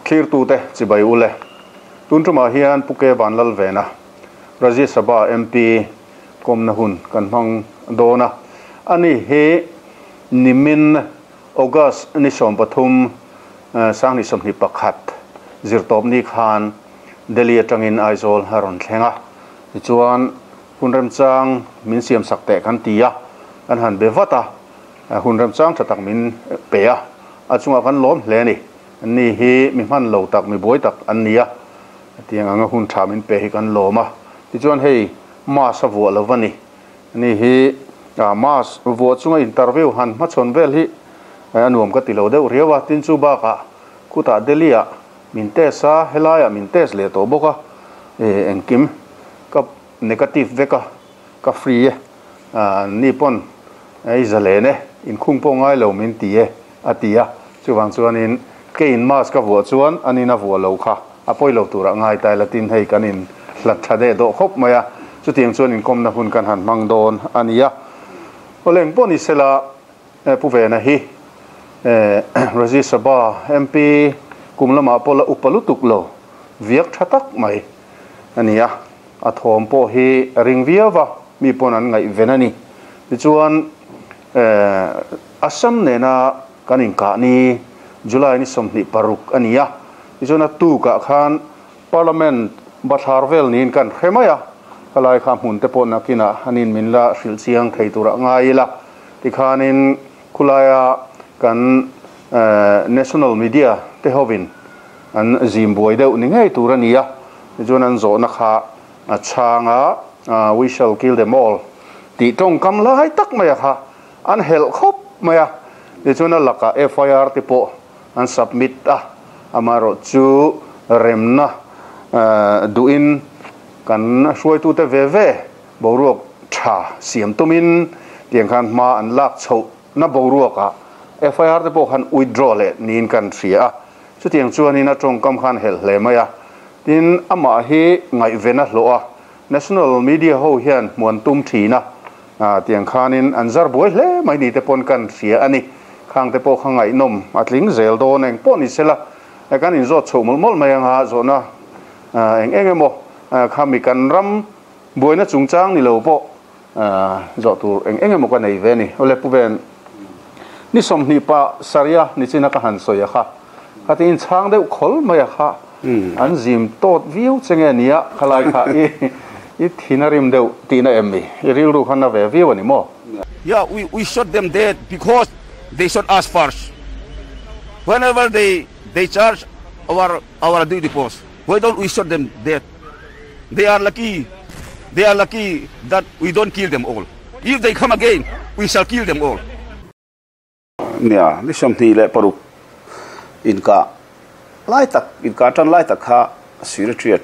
Thlirtute chibai u le. Tun tumah hian Pu Ke Vanlalvena, Rajya Sabha MP kawmna hun kan hmang dawn a. Ani hi nimin August ni 13, 2021 zirtawpni khan Delhi atangin Aizawl a rawn thleng a. Tichuan hun remchang min siamsak teh kan ti a, kan han be vat a, hun remchang tha tak min pe a, a chungah kan lawm hle a ni. Anni hi mi hman lo tak, mi buai tak an ni a, hetiang anga hun tha min pe hi kan lawm a. Tichuan hei mask a vuah lo va ni. Ani hi mask vuah chunga interview han hmachhawn vel hi a nuam ka ti lo deuh riau a, tin chu bakah khutah Delhi ah min test a, helaiah min test leh tawh bawk a, engkim ka negative vek a, ka free e, ni pawn i zalen e, inkhung pawh ngai lo min ti e a ti a, chuvang chuanin keiin mask ka vuah chuan anin a vuah lo kha a pawi lo turah ngai ta ila tin hei kan in hlat tha deh dawh khawp mai a, chutiang chuan inkawmna hun kan han hmang dawn a ni a. Awle engpawh ni sela Pu Vena hi Rajya Sabha MP kum lamah pawh la upa lutuk lo viak tha tak mai a ni a, a thawm pawh hi a ring viau va, mi pawn an ngaihven a ni. Tichuan Assam nena kan inkah ni July ni 26 a ni a, tichuan a tukah khan Parliament bathlar vel niin kan hre mai a, helai kha hmun te pawh nakinah an in min la hrilh chiang thei turah ngai ila. Tikhanin khulaia kan national media te hovin an zim buai deuh ni ngei tur a ni a, tichuan an zawhna kha a chhang a, we shall kill them all tih tawngkam lai tak mai a kha an helh khawp mai a, tichuan a lakah FIR te pawh an submit a, amaherawh chu remna duhin kan hruaitute ve ve boruak tha siam tumin tiang khan hma an lak chhoh na boruakah FIR te pawh khan withdraw leh niin kan hria a, chutiang chuanin a tawngkam khan helh hle mai a, tin amah hi ngaihven a hlawh a, national media ho hian hmuan tum thin a, tiang khanin an zar buai hle mai ni te pawn kan hria a ni, khang te pawh kha ngaihnawm a tling zel dawn eng pawh ni sela kan inzawt chhoh mawlh mawlh mai anga zawhna eng eng emaw khami kan ram buaina chungchang ni lo pawh zawh tur eng eng emaw ka nei ve a ni. Awle Pu Ven, ni 20 pa saria ni china ka han sawi a kha, khatin chhang deuh khawl mai a kha, an zim tawt viau che nge nia, khalai kha i thin a rim deuh tihna em mi? I rilru kha na ve viau a ni maw? Yeah, we shot them dead because they shot us first. Whenever they charge our duty post, why don't we shot them dead? They are lucky, they are lucky that we don't kill them all. If they come again, we shall kill them all. Nia, ni 26 inka lai tak, inka tan lai tak kha Secretariat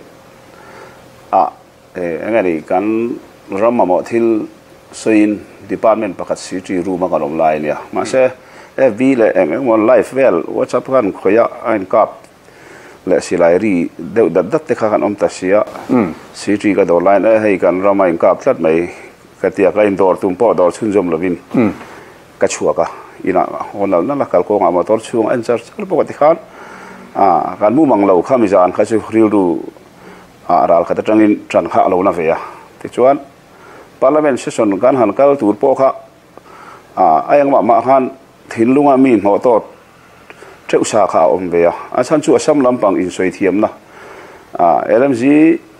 a engani kan ram mamawh thil sawiin department pakhat secretary room a kan awm lai ania. Mahse FB leh eng engemaw live vel WhatsApp khan khawih a inkap leh silai ri deuh dat dat te kha kan awm ta sia. Secretary ka dawr laiin e hei kan rama inkap tlat mai ka tia ka indawr tum pawh dawr chhunzawm lovin ka chhuak a, inah haw nal nal a kal kawngah motor chhung a en char char bawk a tikhan kan mu mang lo kha mizan kha chu rilru ah ral khat atangin tan kha a lo na ve a. Tichuan parliament session kan han kal tur pawh kha a engmah mah khan thinlunga mi hnawh tawt teuh sa kha a awm ve a, a chhan chu Assam lampang insawi thiamna LMG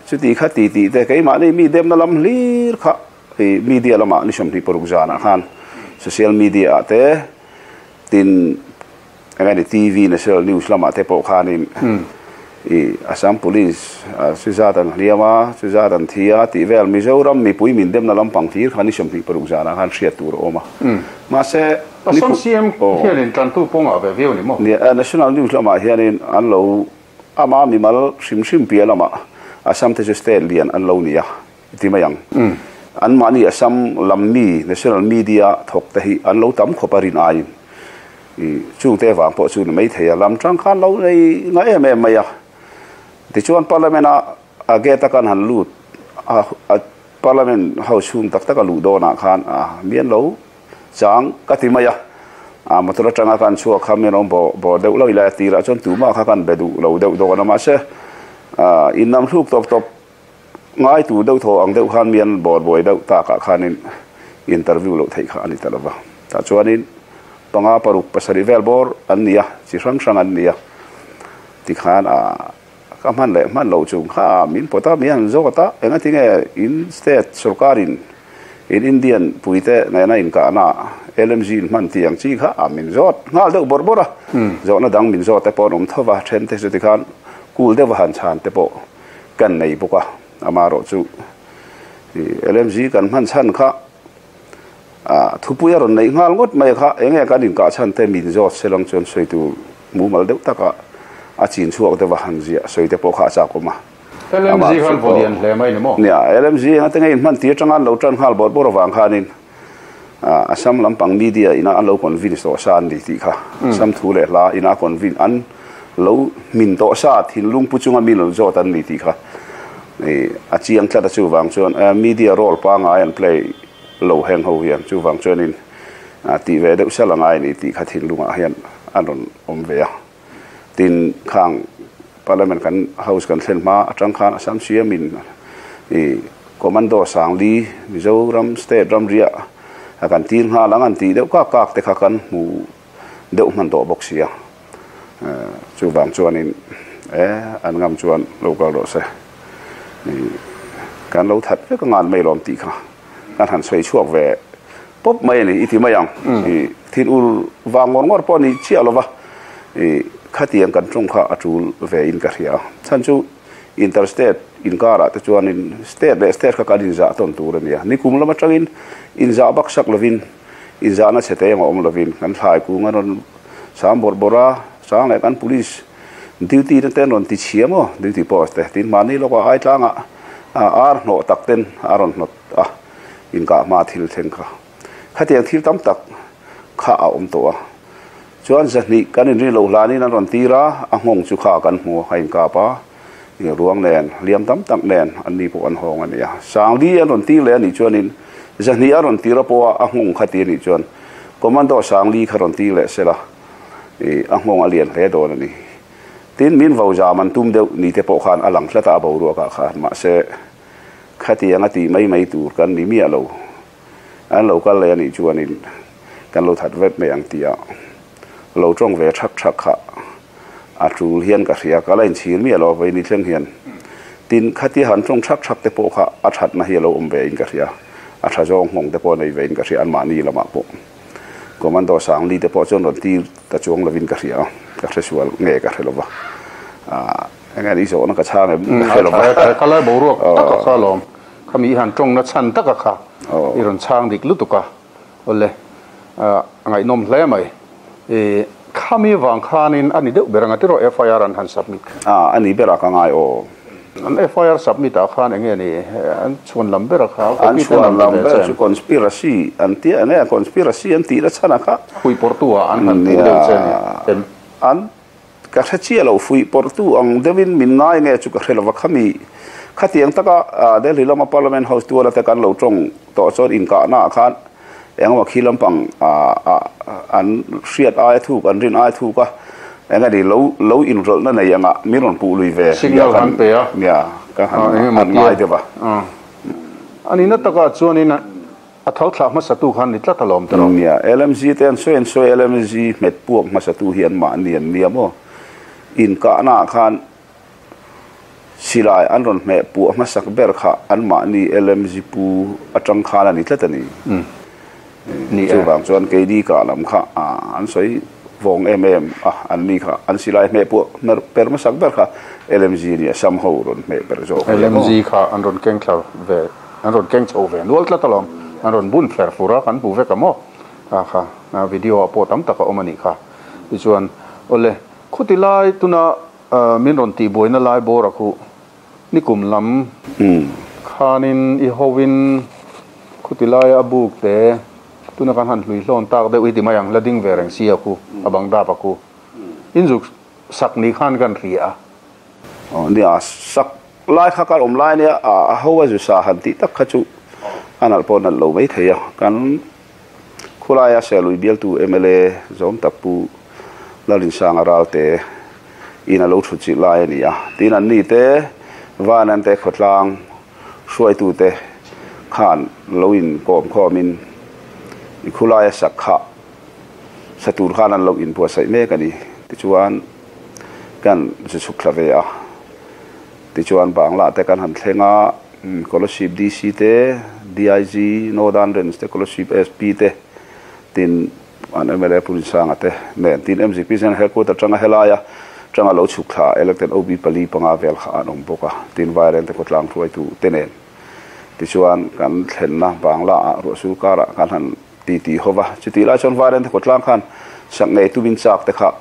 chuti kha ti tih te keimahni mi demna lam hlir kha i media lamah ni 26 zanah khan social media ah te tin engemaw TV national news lamah te pawh khanin i Assam police chu zat an hliam a chu zat an thi a tih vel Mizoram mipui min demna lampang hlir kha ni 26 zanah khan hriat tur a awm a mahse Assam CM hianin tantu pawngah ve viau ni maw? National news lamah hianin an lo ama mimal hrim hrim piah lamah Assam te chu state lian an lo ni a ti mai ang. An mahni Assam lam mi national media thawk te hi an lo tam khawp a rin aiin chung te vang pawh chu ni mai thei a, lam tang khan lo nei nga em em mai a. Tichuan parliament a a gate a kan han lut a parliament house chhung tak tak a luh dawnah khan a mian lo chang ka ti mai a. A motor atanga kan chhuak kha min rawn bawh bawr deuh lo ila tirah chuan tumah kha kan be duh lo deuh dawn a mahse in nam hluk tawp tawp ngai tur deuh thaw ang deuh khan mi an bawr buai deuh takah khanin interview loh theih kha a ni ta lova. Tah chuanin panga paruk pasarih vel bawr an ni a, chi hrang hrang an ni a tikhan a ka hman leh hman loh chung kha min pawt a, mi an zawt a, engatinge in state sorkarin in Indian puite nena inkahna LMG in hman tih ang chi kha min zawt nghal deuh bawrh bawrh a, zawhna dang min zawt te pawh an awm tho va, then te chu tikhan kul deuh a han chhan te pawh kan nei bawk a, amaherawh chu LMG kan hman chhan kha thupui a rawn neih nghal ngawt mai kha enge kan inkah chhan te min zawt se lang chuan sawi tur mumal deuh taka a chin chhuak deuh a han ziah sawi te pawh kha a chak awm a. LMG khan vaw lian hle mai ni maw? Nia, LMG enga te nge inhman tir atanga an lo tan nghal bawrh bawrh avang khanin Assam lampang media ina an lo convince tawh sa an ni tih kha Assam thu leh hla ina convince an lo hmin tawh sa thinlung pu chunga mi lo zawt an ni tih kha a chiang tlat a chuvang chuan media role pangai an play lo heng ho hian chuvang chuanin tih ve deuh sal angai a ni tih kha thinlungah hian a rawn awm ve a. Tin, khang Parliament kan House kan thlen hma atang khan Assam CM in i Commando Sangli Mizoram State ramriah a kan tir nghal ang an tih deuh kak kak te kha kan hmu deuh hman tawh bawk sia. Chuvang chuanin e an ngam chuan lo kal rawh se. Kan lo that vek angan mai lawm tih kha kan han sawi chhuak ve pawp mai a ni i ti mai ang. I thin ur vang ngawr ngawr pawh a ni chiah lo va, i khatiang kan tawng kha a tul ve in ka hria a. Chhan chu inter state inkarah te chuanin state leh state kha kan inzah tawn tur a ni a. Nikum lam atangin inzah bak sak lovin inzahna chhe te engah awm lovin kan thlai kung a rawn sang bawrh bawrh a, sang leh kan police duty te ten rawn ti chhia maw duty post te tin mahni lawkah ai tlangah ar hnawh tak ten a rawn hnawt a inkah hma thil thleng kha khatiang thil tam tak kha a awm tawh a chuan zahnih kan inrin loh hlanin an rawn tir a a nghawng chu kha kan hmu a inkap a ruang nen hliam tam tak nen an ni pawh an hawng a ni a sangli an rawn tir leh a nih chuanin zahnih a rawn tir a pawh a a nghawng kha ti a nih chuan commando sangli kha rawn tir leh sela a nghawng a lian hle dawn a ni. Tin, min vo zam an tum deuh ni te pawh khan a lang tlat a, a boruakah khan. Mahse, khatiang a tih mai mai tur kan ni miah lo. An lo kal leh a nih chuanin kan lo that vek mai ang tia lo tawng ve thak thak kha a tul hian ka hria. Ka la inchhir miah lo vawiin ni thleng hian. Tin, khatia han tawng thak thak te pawh kha a thatna hi a lo awm ve in ka hria. A tha zawng nghawng te pawh a nei ve in ka hria anmahni lamah pawh. Commando Sangli te pawh chuan rawn tir ta chuang lovin ka hria a, ka hre sual nge ka hre lova. Eng nge ni zawhna ka chhang em ka hre lova. Kha lai boruak tak a kha alawm, khami i han tawngna chhan tak a kha i rawn chhang dik lutuk a, awle a ngaihnawm hle mai. Khami vang khanin a ni deuh ber ang a tiraw FIR an han submit kha? A ni berah ka ngai aw. An FIR submit ah khan enge ni an chhuan lam ber a kha An chhuan lam ber chu conspiracy an tia enge conspiracy an tih na chhan a kha. Fuihpawrhtu ah an han puh deuh che a ni em? An ka hre chiah lo fuihpawrhtu ang deuhin min ngai nge chu ka hre lova khami khatiang taka Delhi lama Parliament House tuala te kan lo tawng tawh chuan inkahna ah khan engemaw khi lampang an hriat aia thuk an rin aia thuk a eng a ni lo lo inrawlhna nei anga min rawn puh lui ve Signal han pe a nia ka han han ngai deuh a. A nihna takah chuanin a tho thlah hmasatu khan ni tlat alawm tawh. Nia LMG te an sawi an sawi LMG hmet puak hmasatu hi an mahni an nia maw inkahna ah khan Silai an rawn hmeh puah hmasak ber kha anmahni LMG pu atang khan a ni tlat a ni. Chuvang chuan keini kah lam kha an sawi vawng em em a, anni kha an silai hmeh puah per hmasak ber kha LMG a ni a, Sam ho rawn hmeh per zawk a ni. LMG kha an rawn keng thla ve, an rawn keng chho ve nual tlat alawm, an rawn bun fer fur a, kan hmu vek a maw kha kha video ah pawh tam tak a awm a nih kha. Tichuan awle khuti lai tuna Min rawn tih buaina lai bawr a khuh. Nikum lam khanin i hovin khuti laia a buk te tuna kan han hlui hlawn tak deuh hi ti mai ang, la ding ve reng si a khu, a bang dap a khu. Inzuk sak ni khan kan hria a. Aw nia, sak lai kha kan awm lai nia, a ho a zu sa han tih tak kha chu a nalh pawh nalh lo mai thei a, kan. Khulaia Serlui bialtu mla zawm tak Pu Lalrinsanga Ralte in a lo thut chilh lai a ni a. Tin, anni te Vanante khawtlang hruaitute khan lo inkawm khawmin i khulaia sak kha sa tur khan an lo inbuatsaih mek a ni. Tichuan, kan zu chhuk thla ve a. Tichuan, Bangla te kan han thleng a, Kolasib DC te, DIG, Northern Range te, Kolasib SP te, tin an mla Pu Rinsanga te nen, tin mzp General Headquarter atanga helaia tanga lo chhuk thla elected OB pali panga vel kha an awm bawk a, tin Vairengte khawtlang hruaitu te nen. Tichuan, kan thlenna Bangla ah ruahsul karah kan han ti ti ho va, chutih lai chuan Vairengte khawtlang khan sak ngei tumin chak te kha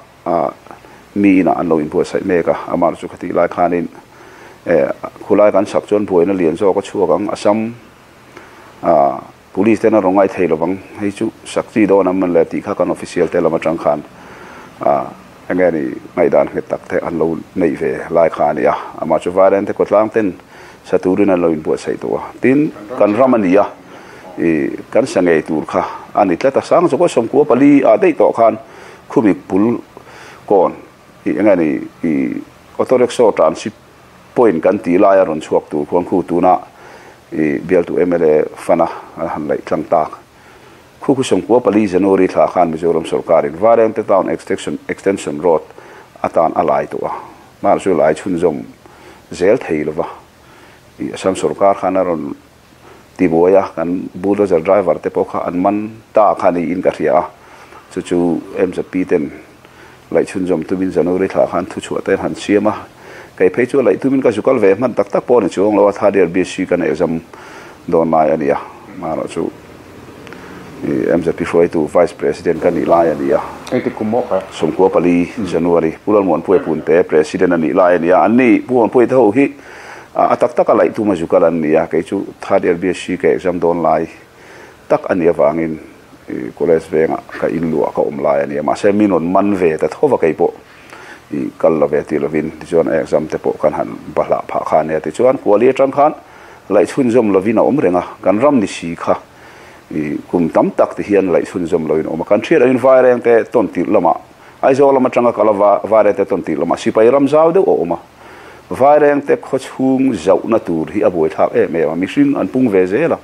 mi inah an lo inbuatsaih mek a, amah chu khatih lai khanin khulai kan sak chuan buaina lian zawk a chhuak ang, Assam Police ten a rawn ngai thei lovang, hei chu sak chi dawn an man le tih kha kan official te lam atang khan eng nge ni ngaihdan nghet tak te an lo neih ve lai kha a ni a, amah chu Vairengte kawtlang ten sa turin an lo inbuatsaih tawh a, tin kan ram a ni a, ih kan sa ngei tur kha a ni tlat a, sang zawk a 14 ah daih tawh khan khumi pul kawn ih eng nge ni ih auto rickshaw transit point kan tih laia rawn chhuak tur khuan khu tuna i bialtu mla fana an han laih tlang tak. Khu khu 14 January thla khan Mizoram sorkarin Vairengte Town Extension Road atan a lai tawh a, mahse chu lai chhunzawm zel thei lova i Assam sorkar khan a rawn tibuai a, kan bulldozer driver te pawh kha an man ta kha niin ka hria a, chu chu MZP ten laih chhunzawm tumin January thla khan thuchhuah te an han siam a, kei phei chu laih tumin ka zu kal ve hman tak tak pawh a ni chuang lo a, third year BSc ka neih zam dawn lai a ni a, amaherawh chu MZP hruaitu Vice President ka nih lai a ni a. Engtik kum maw kha? 14 January Pu Lalmuanpuia Punte President a nih lai a ni a, anni Pu Muanpuia te ho hi A tak taka laih tum a zu kal an ni a, kei chu third year BSc ka exam dawn lai tak a nih avangin college vengah ka in luah ka awm lai a ni a, mahse min rawn man ve ta tho va kei pawh i kal lo ve ti lovin tichuan a exam te pawh kan han bahlah phah kha a nia tichuan kuali atang khan laih chhunzawm lovin a awm reng a, kan ram ni si kha i kum tam tak ti hian laih chhunzawm lovin a awm a, kan hriat angin Vaireng te tawn tirh lamah Aizawl lam atanga kal a Vaireng te tawn tirh lamah sipai ram zau deuh a awm a. Vairengte khawchhung zauhna tur hi a buaithlak em em a, mihring an pung ve zel a.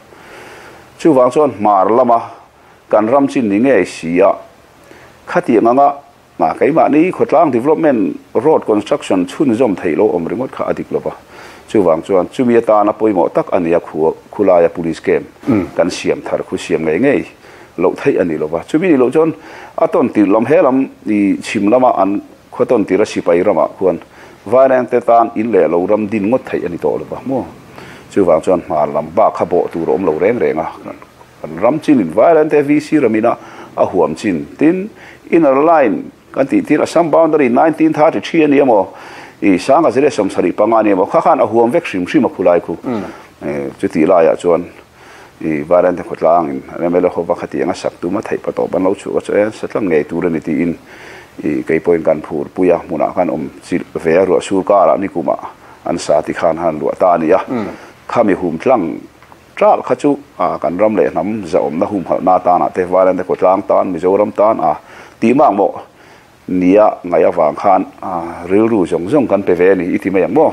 Chuvang chuan hmar lama kan ram chin ni ngei si a, khatiang anga keimahni khawtlang development road construction chhunzawm theih lo awm ringawt kha a dik lova. Chuvang chuan chumi atana pawimawh tak a nia khulaia police camp kan siam thar khu siam ngei ngei loh theih a ni lova. Chumi ni loh chuan a tawn tirh lam he lam i chhim lama an Khaw tawn tira sipai ramah khuan Vairengte tan in leh lo ram din ngawt theih a ni tawh lo va maw? Chuvang chuan hmar lam bak kha bawh tur a awm lo reng reng a, kan ram chinin Vairengte VC ramina a huam chin tin inner line kan tih tir Assam boundary 1933 a ni emaw i 1975 a ni emaw kha khan a huam vek hrim hrim a khulai khu chutih laiah chuan i Vairengte khawtlangin an mla ho va khatiang a sak tum a theih pa tawp an lo chhuah ka chu e satlang ngei tur a ni tiin i kei pawhin kan phur pui a hmunah khan awm chilh ve a ruah sur karah nikumah an sa ti khan han luah ta a ni a khami hum tlang ṭalh kha chu a kan ram leh hnam zahawmna humhalhna atana te Vairengte khawtlang tan Mizoram tan a tih mak mawh Nia, ngaih avang khan rilru zawng zawng kan pe ve a ni i ti mai ang maw?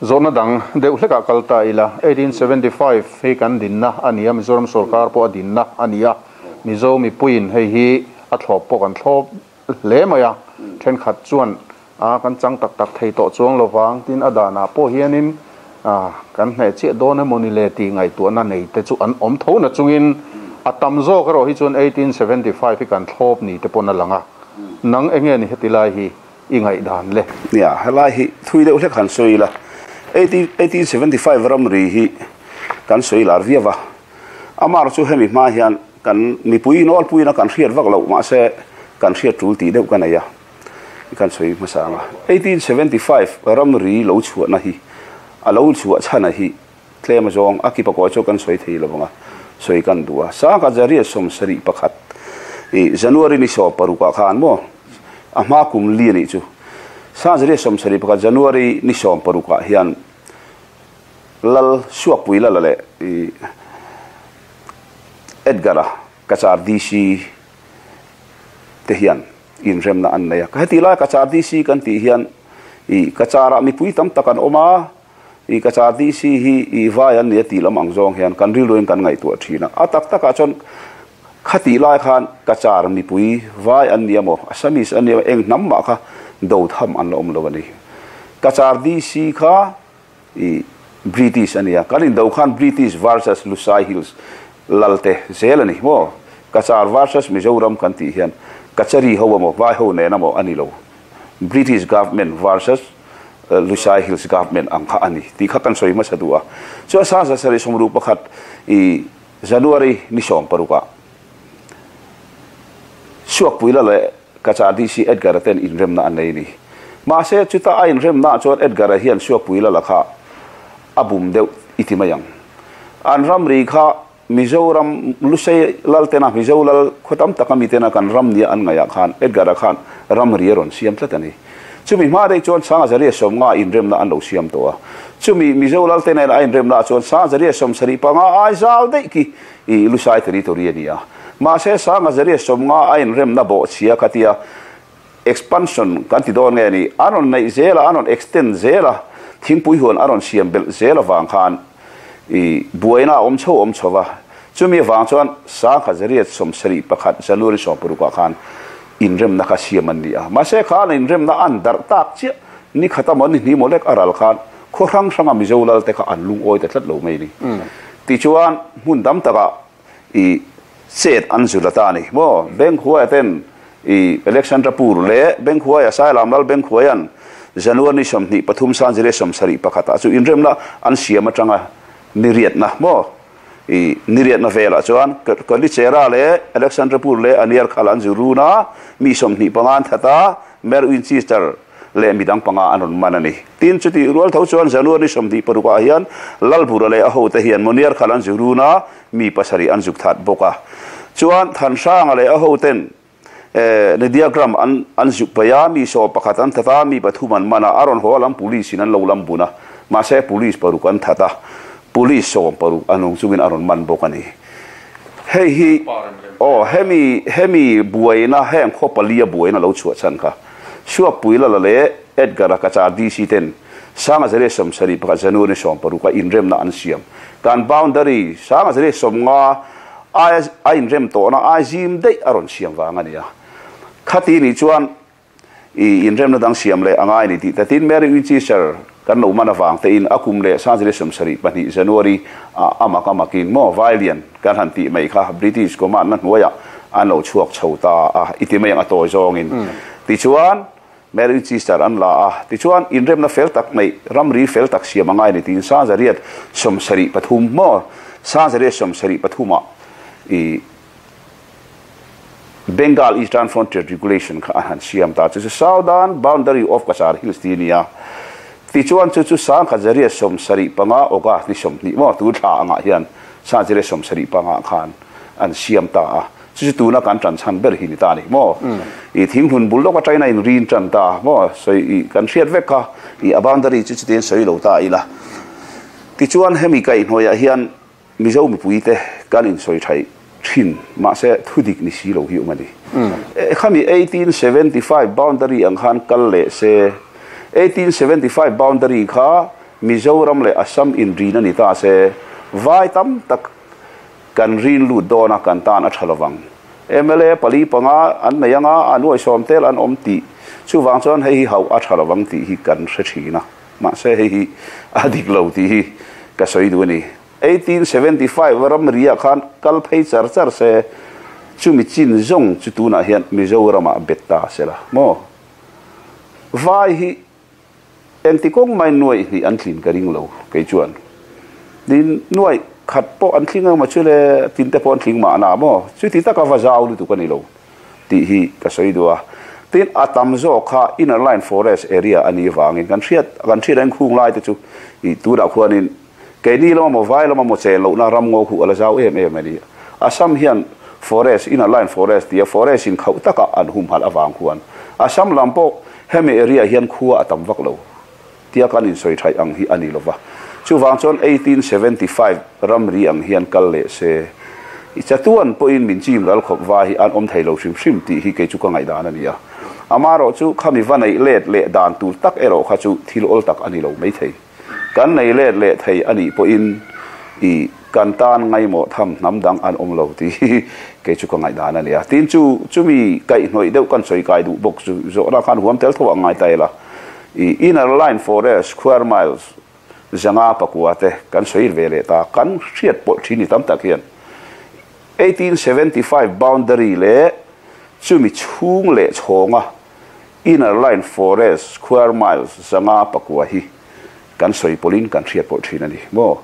Zawhna dang deuh hlekah kal ta ila, 1875 hei kan dinna a ni a, Mizoram sorkar pawh a dinna a ni a, Mizo mipuiin hei hi a thlawp pawh kan thlawp hle mai a, thenkhat chuan a kan chang tak tak thei tawh chuang lovang tin a danah pawh hianin kan hneh chiah dawn emaw ni le tih ngaihtuahna nei te chu an awm tho na chungin a tam zawk erawh hi chuan 1875 hi kan thlawp ni te pawn a lang a. Nang enge ni heti lai hi i ngaihdan le? Nia, helai hi thui deuh hlek han sawi ila, 1875 ramri hi kan sawi lar viau a, amar chu hemi hma hian kan mipui nawlpuiin a kan hriat vak loh mahse kan hriat tul tih deuh ka nei a, kan sawi hmasa ang a. 1875 ramri lo chhuahna hi a lo chhuah chhana hi Tlem a zawng, a kipa kawi chu kan sawi thei lo vang a, sawi kan duh a. Sangha Zariah 71 i January ni 16 ah khan maw a hma kum li a nih chu. Sangha Zariah 71 January ni 16 ah hian Lal Suakpui Lala leh i Edgar-a. Cachar DC te hian inremna an nei a. Heti lai Cachar DC kan tih hian i Cachar-ah mipui tam tak an awm a, i Cachar DC hi i vai an ni a tih lam ang zawng hian kan rilruin kan ngaihtuah thin a. A tak takah chuan khatih lai khan Cachar mipui vai an ni emaw, Assamese an ni emaw, eng hnam mah kha do tham an la awm lo a ni. Cachar DC kha i British a nia, kan indo khan British versus Lusai Hills lal te zel a ni maw? Cachar versus Mizoram kan tih hian Kachari ho emaw vai ho nen emaw a ni lo, British government versus Lusai Hills government ang kha a ni tih kha kan sawi hmasa duh a. Chuan 1961 i January ni 16 ah Suakpuila leh Cachar DC Edgar-a ten inremna an nei a ni. Mahse, chuta a inremnaah chuan Edgar-a hian Suakpuila lakah a bum deuh i ti mai ang. An ramri kha Mizoram Lusei lal tena Mizo lal khaw tam taka mi tena kan ram nia an ngaihah khan Edgar-a khan ramri a rawn siam tlat a ni. Chumi hma daih chuan Sangazaria 50 inremna an lo siam tawh a. Chumi Mizo lal te nena a inremnaah chuan Sangazaria 75 ai zal daih khi i Lusai territory a ni a. Mahse, Sangazaria 50 a inremna bawhchhia kha tia expansion kan ti dawn nge ni, an rawn neih zel a, an rawn extend zel a, thingpui huan a rawn siam belh zel avang khan i buaina a awm chho awm chho va. Chumi avang chuan Sangazaria 71 January 16 ah khan inremna kha siam an ni a. Mahse, khan inremna an darh tak chiah ni khat emaw ni hnih maw lek a ral khan khaw hrang hranga Mizo lal te kha an lungawi ta tlat lo mai a ni. Tichuan, hmun tam takah i chet an zul a ta a ni maw? Bengkhuaia ten i Alexandrapur leh Bengkhuaia Sailam lal Bengkhuaia'n January ni 23 Sanzire 71 ah chu inremna an siam atanga ni riatna maw? I ni riatna velah chuan Kalichera leh Alexandrapur leh Aniarkhal an zu run a, mi 25 an that a, Mer Winchester leh midang panga an rawn man a ni. Tin, chutih rual tho chuan January 26 ah hian Lalbura leh a hote hian Moniar khal an zu run a, mi pasarih an zuk that bawk a. Chuan Thanhranga leh a hoten Nediagram an an zuk paih a, mi 11 an that a, mi pathum an man a, a rawn haw lam police in an lo lam bun a, mahse police paruk an that a, police 16 a nung chungin a rawn man bawk a ni. Hei hi aw hemi hemi buaina heng khaw pali a buaina lo chhuah chhan kha Suakpui Lala leh Edgar-a Cachar DC ten Sangazare 71 January 16 a inremna an siam. Kan boundary Sangazare 50 aia a inrem tawhna ai zim daih a rawn siam vang a ni a. Khati nih chuan i inremna dang siam leh a ngai a ni tih tatin Mary Winchester kan lo man avang tein a kum leh Sangazare 72 January ah a mak a makin maw Vailian kan han tih mai kha British command na hnuaiah an lo chhuak chho ta a i ti mai ang a tawi zawngin. Tichuan Mary Winchester an la a, tichuan inremna fel tak neih ramri fel tak siam a ngai a ni tiin 1973 maw 1973 ah i Bengal Eastern Frontier Regulation kha an han siam ta chu chu Southern Boundary of Cachar Hills tih a ni a. Tichuan chu chu 1975 August ni 20 maw tu thla angah hian 1975 khan an siam ta a. Chu chu tuna kan tan chhan ber hi ni ta a ni maw. I thinghlun bul lawk atangin a inrin tan ta maw sawi i kan hriat vek kha i a boundary chu chutiang sawi lo ta ila. Tichuan hemi kaihhnawihah hian Mizo mipuite kan insawi thaih thin, mahse thudik ni si lo hi awm a ni. Khami 1875 boundary ang khan kal leh se, 1875 boundary kha Mizoram leh Assam inrin a ni ta se, vai tam tak kan rin lut dawn a, kan tan a tha lovang. Mla pali panga an nei anga, a nuai sawm tel an awm tih, chuvang chuan hei hi hauh a tha lovang tih hi kan hre thin a. Mahse hei hi a dik lo tih hi ka sawi duh a ni. 1875 ramri ah khan kal phei char char se, chumi chin zawng chu tunah hian Mizoramah bet ta se la maw? Vai hi engti kawng mai nuaih hnih an tlin ka ring lo kei chuan. Tin, nuaih khat pawh an tling emaw chu le tin te pawh an tling mahna maw? Chuti taka va zau lutuk a ni lo. tih hi ka sawi duh a. Tin, a tam zawk kha inner line forest area a nih vangin kan hriat kan hriat ang khung lai te chu ih tunah khuanin keini lama maw vai lama maw chen lohna ram ngaw khuh a la zau em em a ni. Assam hian forest inner line forest tia forest in khauh taka an humhalh avang khuan Assam lam pawh hemi area hian khua a tam vak lo tia kan insawi thaih ang hi a ni lova. Chuvang chuan 1875 ramri ang hian kal leh se I chatuan pawhin min chim ral khawp vai hi an awm thei lo hrim hrim tih hi kei chu ka ngaihdan a ni a. Amaherawhchu khami va neih let leh dan tur tak erawh kha chu thil awl tak a ni lo maithei. Kan nei let leh thei a nih pawhin i kan tan ngaimawh tham hnam dang an awm lo tih hi kei chu ka ngaihdan a ni a. Tin chu chumi kaihhnawih deuh kan sawi kai duh bawk chu zawhna khan huam tel tho a ngai ta ila. I inner line forest square miles zanga pakua te kan sawi ve leh ta kan hriat pawlh thin ni tam tak hian 1875 boundary leh chumi chhung leh chhawnga Inner Line Forest square miles 504 hi kan sawi pawlhin kan hriat pawlh thin a ni maw?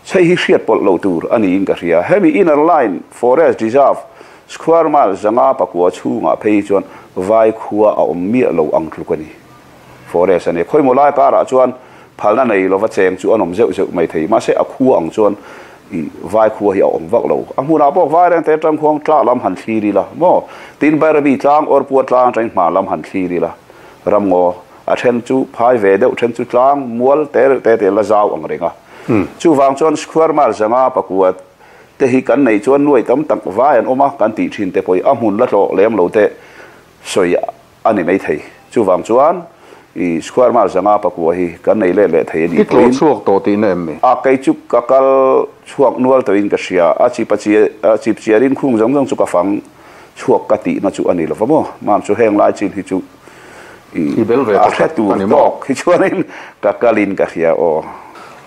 Chhei hi hriat pawlh loh tur a niin ka hria. Hemi Inner Line Forest Reserve square miles 504 chhungah phei hi chuan vai khua a awm miah lo ang tluk a ni. Forest a ni. Khawimaw lai karah chuan phalna nei lova cheng chu an awm zeuh zeuh mai thei. Mahse a khua ang chuan i vai khua hi a awm vak lo. A hmunah pawh vai reng te atang khuang tla lam han thlir ila maw? Tin Bairabi tlang or Pua tlang atangin hma lam han thlir ila ramngaw a then chu phai ve deuh then chu tlang mual te reuh te te la zau ang reng a. Chuvang chuan square mile 504 te hi kan neih chuan nuai tam tak vai an awm a kan tih thin te pawh hi a hmun la tlawh lem lo te sawi a ni mai thei. Chuvang chuan i square mile 504 hi kan nei let leh thei a nih I tlawh chhuak tawh tihna em ni? A kei chu ka kal chhuak nual tawhin ka hria. A chip a a chip chiarin khung zawng zawng chu ka fang chhuak ka tihna chu a ni lova maw? Mam chu heng lai chin hi chu i I bel ve a tawh hre khat tur a ni maw? tawk hi chuanin ka kalin ka hria aw.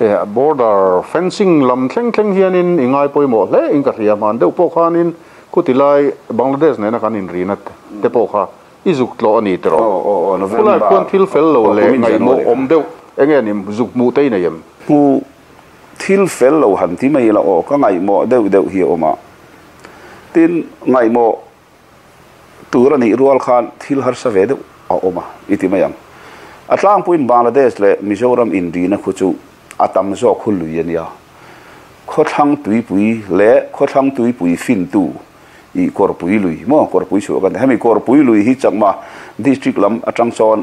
E border fencing lam thleng thleng hianin i ngai pawimawh hle in ka hria. Hman deuh pawh khanin Khuti lai Bangladesh nena kan inrina te pawh kha i zuk tlawh a ni tiraw? Khulai khuan thil fel lo leh ngaihmawh awm deuh eng nge ni zuk hmuh te i nei em? Hmuh thil fel lo han ti mai ila aw, ka ngaihmawh deuh deuh hi a awm a. Tin, ngaihmawh tur a nih rual khan thil harsa ve deuh a awm a i ti mai ang. A tlangpuiin Bangladesh leh Mizoram inrina khu chu a tam zawk khu lui a nia. Khawthlang tuipui leh khawthlang tuipui fintu i Kawrpui lui maw Kawrpui chhuah kan hemi Kawrpui lui hi Chakma district lam atang chuan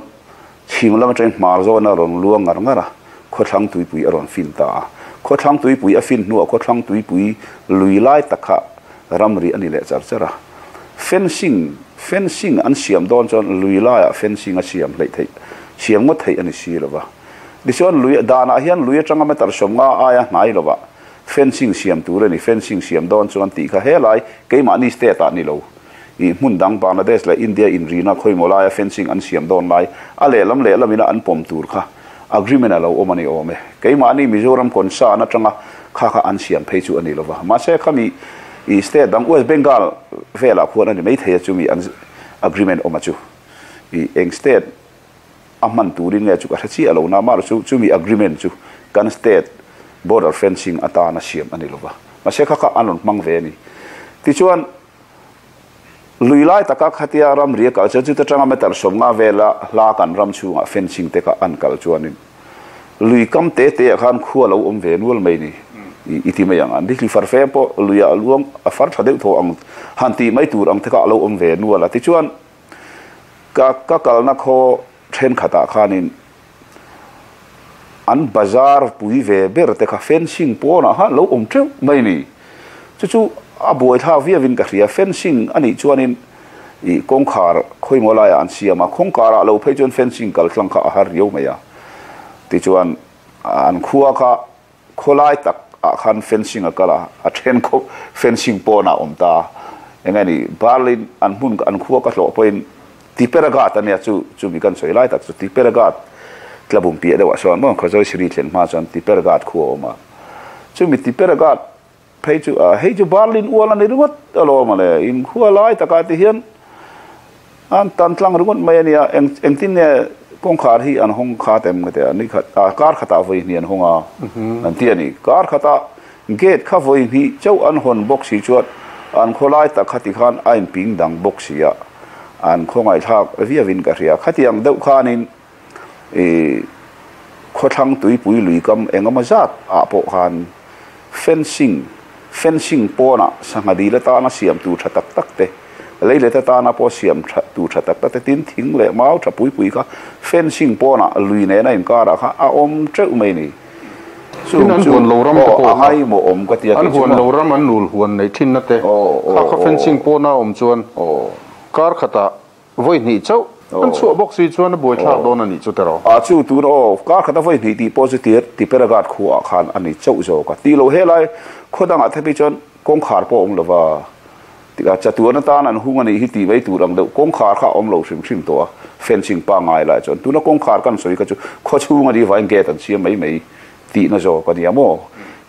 chhim lam atangin hmar zawn a rawn luang ngar ngar a, khawthlang tuipui a rawn fin ta a. Khawthlang tuipui a fin hnuah khawthlang tuipui lui lai tak kha ramri a ni leh char char a. Fencing fencing an siam dawn chuan lui laiah fencing a siam hleih theih siam ngawt theih a ni si lova. Tichuan lui danah hian lui atanga meter 50 aia hnai lovah fencing siam tur a ni. Fencing siam dawn chuan tih kha helai keimahni state ah ni lo. Ih hmun dang Bangladesh leh India inrina khawimaw laia fencing an siam dawn lai a lehlam lehlam ina an pawm tur kha agreement a lo awm a ni awm e. Keimahni Mizoram concern atanga kha kha an siam phei chu a ni lova. Mahse khami ih state dang West Bengal velah khuan a ni maithei a chumi an agreement awm a chu. Ih eng state A hman turin nge chu ka hre chiah lo na, mahrawh chu chumi agreement chu kan state border fencing atana siam a ni lova, mahse kha kha an rawn hmang ve a ni. Tichuan, lui lai taka khatia ramri a kal chuan chuta tanga meter 50 vela hla kan ram chhungah fencing te kha an kal chuanin lui kam te te ah khan khua lo awm ve nual mai ni i ti mai ang. An thli far fem pawh luiah a luang a far tha deuh thaw ang han tih mai tur ang te kha a lo awm ve nual a. Tichuan, Ka ka kalna khaw thenkhatah khanin an bazar pui ve ber te kha fencing pawnah khan lo awm teuh mai ni. Chu chu a buaithlak viauin ka hria. Fencing a nih chuanin ih kawngkhar khawimaw laiah an siam a, kawngkarah lo phei chuan fencing kal tlang kha a har riau mai a. Tichuan an khua kha Khawlai tak ah khan fencing a kal a, a then khawp fencing pawn ah a awm ta. Eng nge ni, Berlin an hmun an khua ka hlawh pawhin Tipperaghat a nia chu chu mi kan sawi lai tak chu Tipperaghat tlabum piah deuh ah sawn maw Khawzawi Siri thlen hma chuan Tipperaghat khua a awm a. Chumi Tipperaghat phei chu ah hei chu Berlin ual a ni ringawt alawm a le, in khua lai takah ti hian An tan tlang ringawt mai a nia, eng engtin nge kawngkhar hi an hawng khat em ka ti a, ni khat ah kar khatah vawi hnih an hawng a an ti a ni. Kar khatah gate kha vawi hnih chauh an hawn bawk si chuan an khawlai tak kha tikhan a inping dang bawk si a, an khawngaihthlak viauin ka hria. Khatiang deuh khanin ih khawthlang tuipui lui kam engemaw zat ah pawh khan fencing fencing pawnah sangha dil atana siam tur tha tak tak te, lei let atana pawh siam tha tur tha tak tak te tin thing leh mau tha pui pui kha fencing pawnah lui nena inkarah kha a awm teuh mai a ni. Tin Chung an chu huan lo ram te aw pawh a kha ngaimawh awm ka tia an kei chu huan maw. lo ram an nul huan neih thinna te Aw kha aw kha aw fencing pawna awm chuan aw. kar khatah vawi hnih chauh an Aw. chhuah bawk si chuan a buaithlak Aw. dawn a nih chu tiraw. A chu tun aw kar khata vawi hnih tih pawh chu tir Tipperaghat khuaah khan a ni chauh zawk a ti lo helai khaw dangah te phei chuan kawngkhar pawh a awm lova Tikah chatuan atan an hung a nih hi tih mai tur ang deuh kawngkhar kha a awm lo hrim hrim tawh a, fencing pangngai lai chuan tuna kawngkhar kan sawi kha chu khawchhung a nih vangin gate an siam mai mai tihna zawk a nia maw?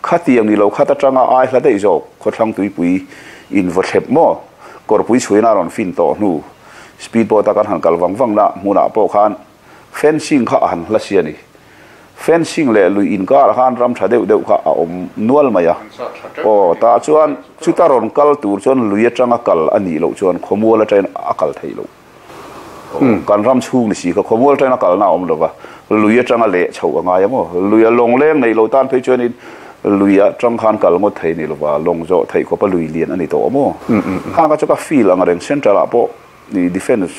Khatiang ni lo khat atanga ai hla daih zawk khawthlang tuipui in vaw thlep maw? Kawrpui chhuina a rawn fin tawh hnu speed boat a kan han kal vang vang na hmunah pawh khan Fencing kha a han hla si a ni. Fencing leh lui inkarah khan ram tha deuh deuh kha a awm nual mai a. Aw, tah chuan chuta rawn kal tur chuan lui atanga kal a nih loh chuan khawmual atangin a kal theih loh. Kan ram chhung ni si kha khawmual atangin a kalna a awm lo va, lui atanga leh chhoh a ngai ang aw. Luia lawng leng neih loh tan phei chuanin lui atang khan kal ngawt thei ni lova, lawng zawh theih khawpa lui lian a ni tawh maw? Khang kha chu ka feel ang reng central ah pawh. I defence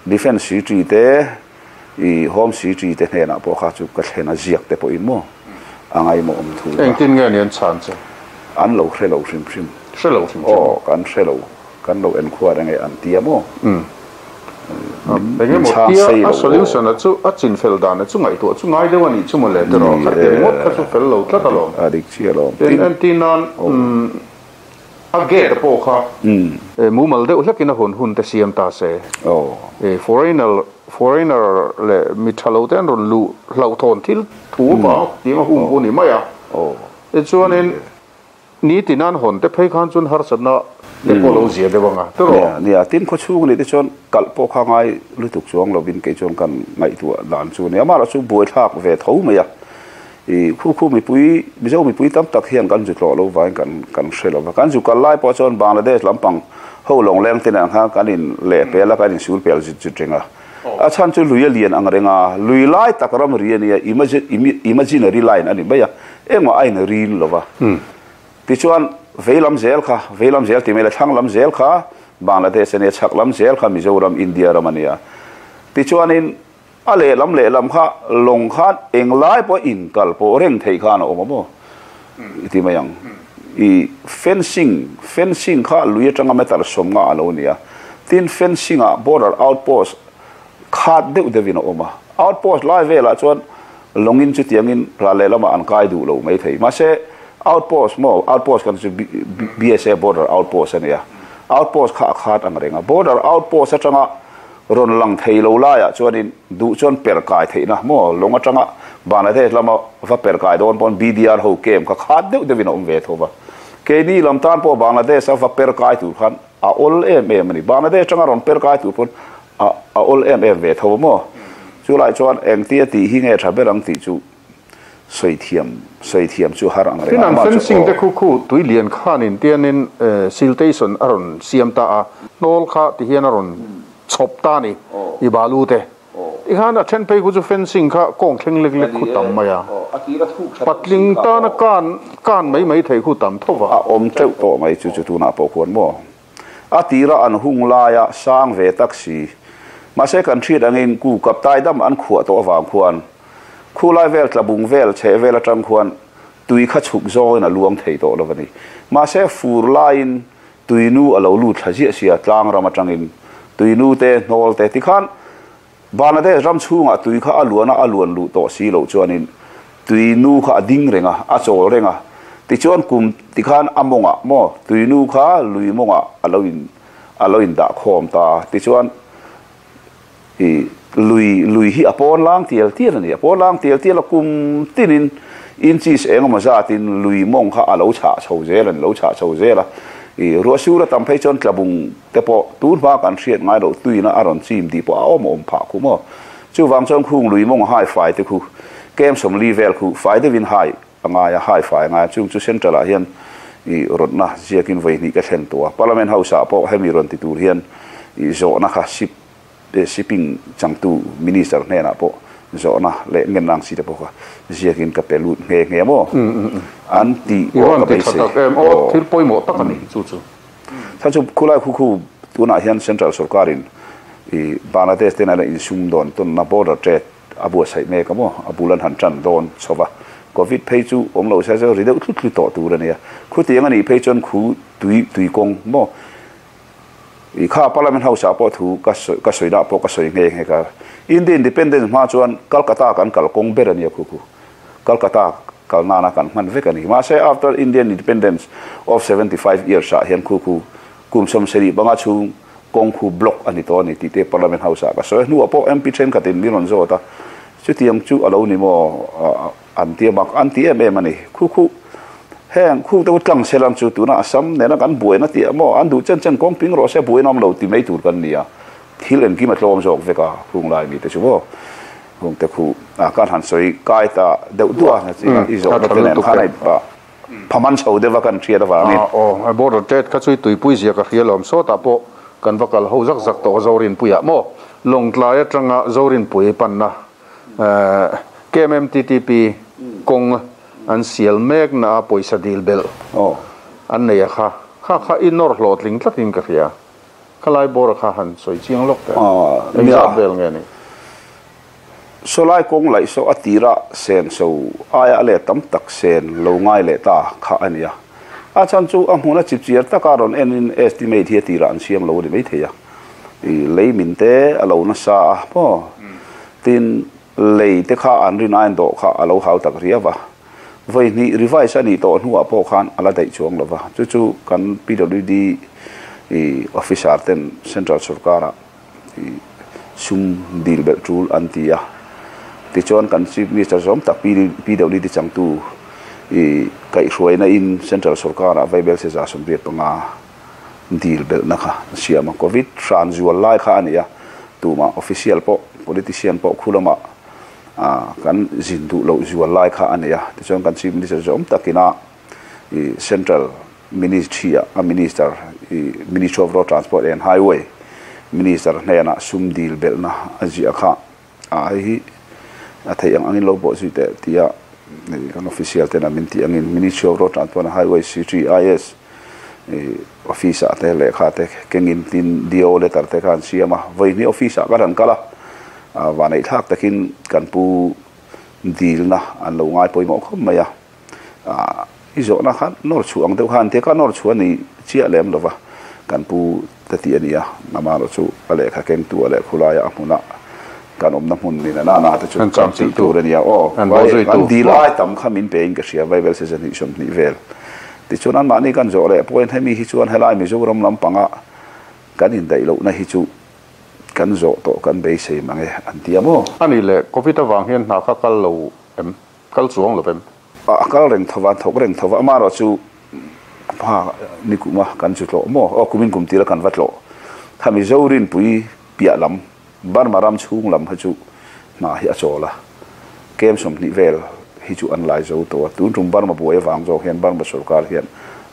defence secretary te i home secretary te hnenah pawh kha chu ka thlen a ziak te pawhin maw a ngaimawh awm thu ka. Engtin nge ni an chhan che? An lo hre lo hrim hrim. Hre lo hrim hrim. Aw kan hre lo kan lo enkhua reng e an tia maw? Eng Min emaw chhang tia sei a lo aw. solution a chu a chin fel dan a chu ngaihtuah chu ngai deuh a nih chu maw le tiraw Ni kha e ti ringawt kha chu fel lo tlat a dik alawm. a dik chiah alawm. Tin Tin entir nan aw. A gate pawh kha mumal deuh hlekin a hun hun te siam ta se. Foreigner foreigner leh mi tha lo te an rawn luh hlauhthawn thil thu vang tiang a hung pawh a ni mai a. Tichuanin nitin an hawn te phei khan chuan harsatna te pawh lo zia deuh ang a tiraw? Nia, nia, tin khawchhung a nih te chuan kalh pawh kha ngai lutuk chuang lovin kei chuan kan ngaihtuah dan chu a ni. Amaherawhchu chu buaithlak ve tho mai a. I khu khu mipui, Mizo mipui tam tak hian kan zu tlawh lo vangin kan kan hre lo va. Kan zu kal lai pawh chuan Bangladesh lampang ho lawng leng te nen khan kan in leh pel a, kan in sul pel zut zut reng a. A chhan chu lui a lian ang reng a, lui lai tak ram ri a nia, imaginary line a ni mai a, engmah a in rin lo va. Tichuan vei lam zel kha, vei lam zel ti mai la, thlang lam zel kha Bangladesh a nia, chhak lam zel kha Mizoram, India ram a nia. Tichuanin A lehlam lehlam kha lawng khan englai pawh inkal pawh reng theih khan a awm a maw i ti mai ang. I fencing, fencing kha lui atanga meter sawmnga a lo ni a, tin fencing ah border outpost khat deuh deuhin a awm a, outpost lai velah chuan lawngin chutiangin ral lehlamah an kai duh lo mai thei. Mahse outpost maw, outpost kan chu BSA border outpost a nia, outpost kha a khat ang reng a, border outpost atanga Rawn lang thei lo laiah chuanin duh chuan per kai theihna maw lawng atanga Bangladesh lama va per kai dawn pawn BDR ho camp kha khat deuh deuhin a awm ve tho va. Keini lam tan pawh Bangladesh a va per kai tur khan a awl em em a ni. Bangladesh atanga rawn per kai tur pawn a a awl em em ve tho maw. Chulai chuan engtia tih hi nge tha ber ang tih chu sawi thiam sawi thiam chu har ang reng Tin a, an amah chu fencing te aw. khu khu tui lian khanin tianin siltation a rawn siam ta a, hnawl kha ti hian a rawn chhawp ta a ni i balu te. Tikhan a then phei khu chu fencing kha kawng thleng lek lek khu tam mai a, patling tana kan kan mai mai thei khu tam tho va. A awm teuh tawh mai chu chu tunah pawh khuan maw? A tira an hung laia sang ve tak si. Mahse kan hriat angin ku kaptai dam an khuah tawh avang khuan khulai vel tlabung vel chheh vel atang khuan tui kha chhuk zawngin a luang thei tawh lo a ni. Mahse fur laiin tuinu a lo lut thla ziah sia tlang ram atangin tuinu te hnawl te tikhan Bangladesh ram chhungah tui kha a luan a, a luan luh tawh si loh chuanin tui nu kha a ding reng a, a chawl reng a. Tichuan kum tikhan a mawngah maw tui nu kha lui mawngah a lo in a lo in dah khawm ta a. Tichuan i lui lui hi a pawn lang tial tial a ni. A pawn lang tial tial a, kum tinin inches eng emaw zatin lui mawng kha a lo chhah chho zel a ni, lo chhah chho zel a. I ruahsur a tam phei chuan tlabung te pawh tun hma kan hriat ngai loh tuina a rawn chim tih pawh a awm awm phah khu maw. Chuvang chuan khung lui mawng hai fai te khu kem sawmli vel khu fai deuhin hai a ngai a, hai fai a ngai a, chung chu central ah hian i rawtna ziakin vawi hnih ka thlen tawh a, Parliament House ah pawh hemi rawn ti tur hian i zawhna kha sip shipping changtu minister hnenah pawh zawhna leh ngen ang si te pawh kha ziakin ka pe lut nghe nghe maw an tih pawh ka beisei. Aw thil pawimawh tak a ni chu chu. Kha chu khulai khu khu tunah hian central sorkarin i Bangladesh te nena insum dawn tawnna border trade a buatsaih mek a maw, a bul an han tan dawn chho va. Covid phei chu awm lo se chu ri deuh thlut thlut tawh tur a nia. Khutiang a nih phei chuan khu tui tui kawng maw i kha Parliament House ah pawh thu ka sawi ka sawi dah pawh ka sawi nghe nghe ka. India Independence hma chuan Calcutta kan kal kawng ber a nia khu khu. Calcutta kal nana kan hman vek a ni. Mahse after Indian Independence of 75 years ah hian khu khu kum 75 chhung kawng khu block a ni tawh a ni tih te Parliament House ah ka sawi a. Hnuah pawh MP thenkhatin min rawn zawt a, chutiang chu a lo ni maw an ti a mak an ti em em a ni. Khu khu heng khu te tlang se lam chu tuna Assam nena kan buaina tih ah maw an duh chen chen kawng ping rawh se buaina awm lo ti mai tur kan ni a, thil engkim a tlawm zawk vek a khung lai mi te chu maw khung te khu kan han sawi kai ta deuh duah a i zawhna te nen khan a inpah. Phaman chho deuh a kan hriat avangin. Aw, border trade kha chu i tuipui zia ka hria lawm. Sawtah pawh kan va kal ho zak zak tawh Zorinpuiah maw? Lawngtlai atanga Zorinpui panna KMMTTP kawng an sial mek na a pawisa dil belh an nei a kha. Kha kha i nawr hlawhtling tlatin ka hria. Khalai bawr kha han sawi chiang lawk teh. Engzat vel nge ni? Sawlai kawng laih saw a tira sen so aia a let tam tak sen lo ngai leh ta kha a nia. A chhan chu a hmun a chipchiar taka rawn enin estimate hi a tirah an siam lo a ni maithei a. I lei min te a lo nasa a maw? Tin, lei te kha an rin ain dawh kha a lo hau tak riau a. Vawi hnih revise a nih tawh hnuah pawh khan a la daih chuang lo va. Chu chu kan PWD i officer ten central sorkar-ah sum dil belh tul an ti a. Tichuan kan Chief Minister zawm tak PWD changtu i kaihhruaina in Central sorkar ah Vaibel Seza 85 dil belhna kha an siam a. Covid hran zual lai kha a ni a, tumah official pawh politician pawh khu lamah kan zin duh loh zual lai kha a ni a. Tichuan kan Chief Minister zawm takina i Central Ministry ah a Minister i Ministry of Road Transport and Highway Minister hnenah sum dil belhna a ziah kha a hei hi a theih ang angin lo bawh zui teh tia kan official tena min tih angin Ministry of Road Transport and Highway CTIS i office ah te lehkha te kengin tin DO letter te kha an siam a, vawi hnih office ah ka rawn kal a, vanneih thlak takin kan pu dilna an lo ngai pawimawh khawp mai a. I zawhna kha nawr chhuah ang deuh khan tia ka nawr chhuah a ni chiah lem lova kan pu te tih a ni a, amaherawh chu a lehkha kengtu a leh khulaia a hmuna kan awmna hmun ni na na te chu kan tih tur a ni a, aw kan dil ai tam kha min pe in ka hria Vaibel se zahnih 20 vel tichuan anmahni kan zawh leh pawhin hemi hi chuan helai Mizoram lampanga kan indaih lohna hi chu kan zawh tawh kan beisei mang e an ti a maw. A nih leh Covid avang hian hna kha kal lo em? Kal chuang lo vem. A kal reng tho va, an thawk reng tho va, amaherawh chu hma ni kum a kan chu tlawh maw? Aw kumin kum tira kan va tlawh. Kha Mizo rinpui piah lam, Burma ram chhung lam kha chu hna hi a chawl a, kem 20 vel hi chu an lai zo tawh a, tun tum Burma buai avang zawk hian Burma sorkar hian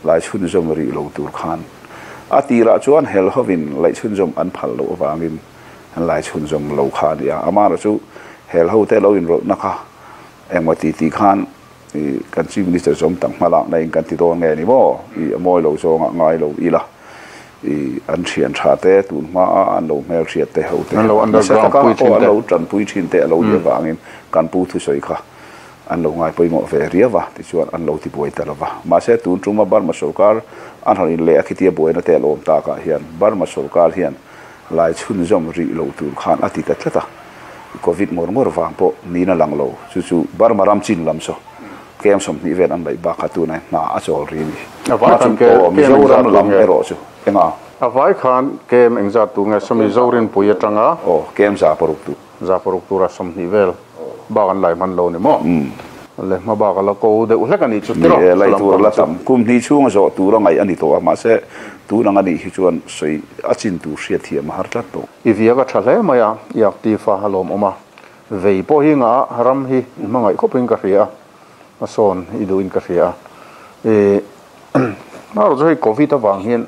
lai chhunzawm rih lo tur khan a tirah chuan hel hovin laih chhunzawm an phal loh avangin an lai chhunzawm lo kha a ni a, amaherawh chu hel hote lo inrawlhna kha Engmaw ti tih khan i kan Chief Minister zawm tak hma lakna in kan ti dawn nge ni maw? I a mawi lo zawngah ngai lo ila i an thian tha te tun hma a an lo hmel hriat te ho te An lo nasa underground taka pui aw thin an te. lo tanpui thin te a lo nih avangin kan pu thusawi kha an lo ngai pawimawh ve riau a tichuan an lo ti buai ta lova. Mahse tun tuma Burma sorkar an han inleh a khitia buaina te a lawm takah hian Burma sorkar hian lai chhunzawm rih lo tur khan a ti ta tlat a. Covid ngawr ngawr vang pawh niin a lang lo. Chu chu Burma ram chin lam saw kem 20 vel an laih bak kha tunah hna a chawl ri a ni. A vai khan Hma chu aw kem engzat Mizoram tur lam nge? erawh chu enga? A vai khan kem engzat tur nge? Sawmi Zorinpui atanga. Aw kem 600 tur. 600 tura 20 vel bak an lai hman lo ni maw? Le hma bak a la ko deuh hlek a nih chu tiraw? Ni e, laih tur a la tam. Kum hnih chhunga zawh tur a ngaih a ni tawh a, mahse tun ang a nih hi chuan sawi a chin tur hriat thiam a har tlat tawh. I viak a tha hle mai a, i active a, a lawmawm a. Vei pawh hi ngah ram hi i hmangaih khawpin ka hria a, a sawn i duhin ka hria a. I hmarawh chu hei Covid avang hian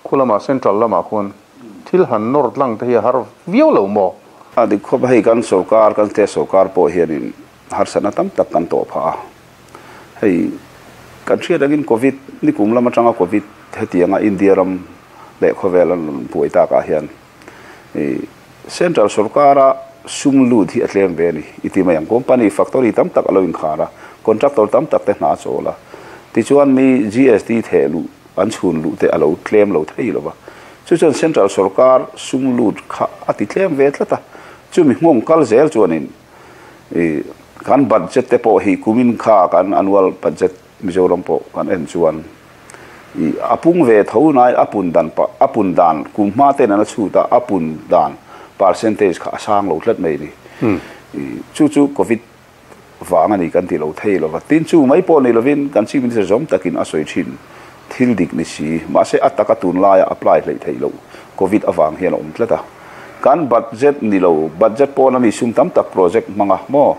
Khu lamah Central lamah khuan thil han nawr tlang te hi a har viau lo maw? A dik khawp a, hei kan sorkar, kan state sorkar pawh hianin harsatna tam tak kan tawh phah a. Hei kan hriat angin Covid nikum lam atanga Covid hetianga India ram leh khawvel an rawn buai takah hian i Central sorkara. sum lut hi a tlem ve a ni i ti mai ang. Company, factory tam tak a lo inkhar a, contractor tam tak te hna a chawl a. Tichuan mi GST theh luh an chhun luh te a lo tlem lo thei lo va. Chu chuan central sorkar sum lut kha a ti tlem ve tlat a. Chumi nghawng kal zel chuanin i kan budget te pawh hi kumin kha kan annual budget Mizoram pawh kan en chuan i a pung ve tho nai a pun dan a pun dan kum hma ten an a chhut a, a pun dan percentage kha a sang lo tlat mai a ni. I chu chu covid vang a ni kan ti lo thei lo va. Tin chu mai pawh ni lovin kan Chief Minister zawm takin a sawi thin thil dik ni si. Mahse a taka tunlaia apply hleih theih loh covid avang hian a awm tlat a. Kan budget ni lo, budget pawn a mi sum tam tak project hmang a maw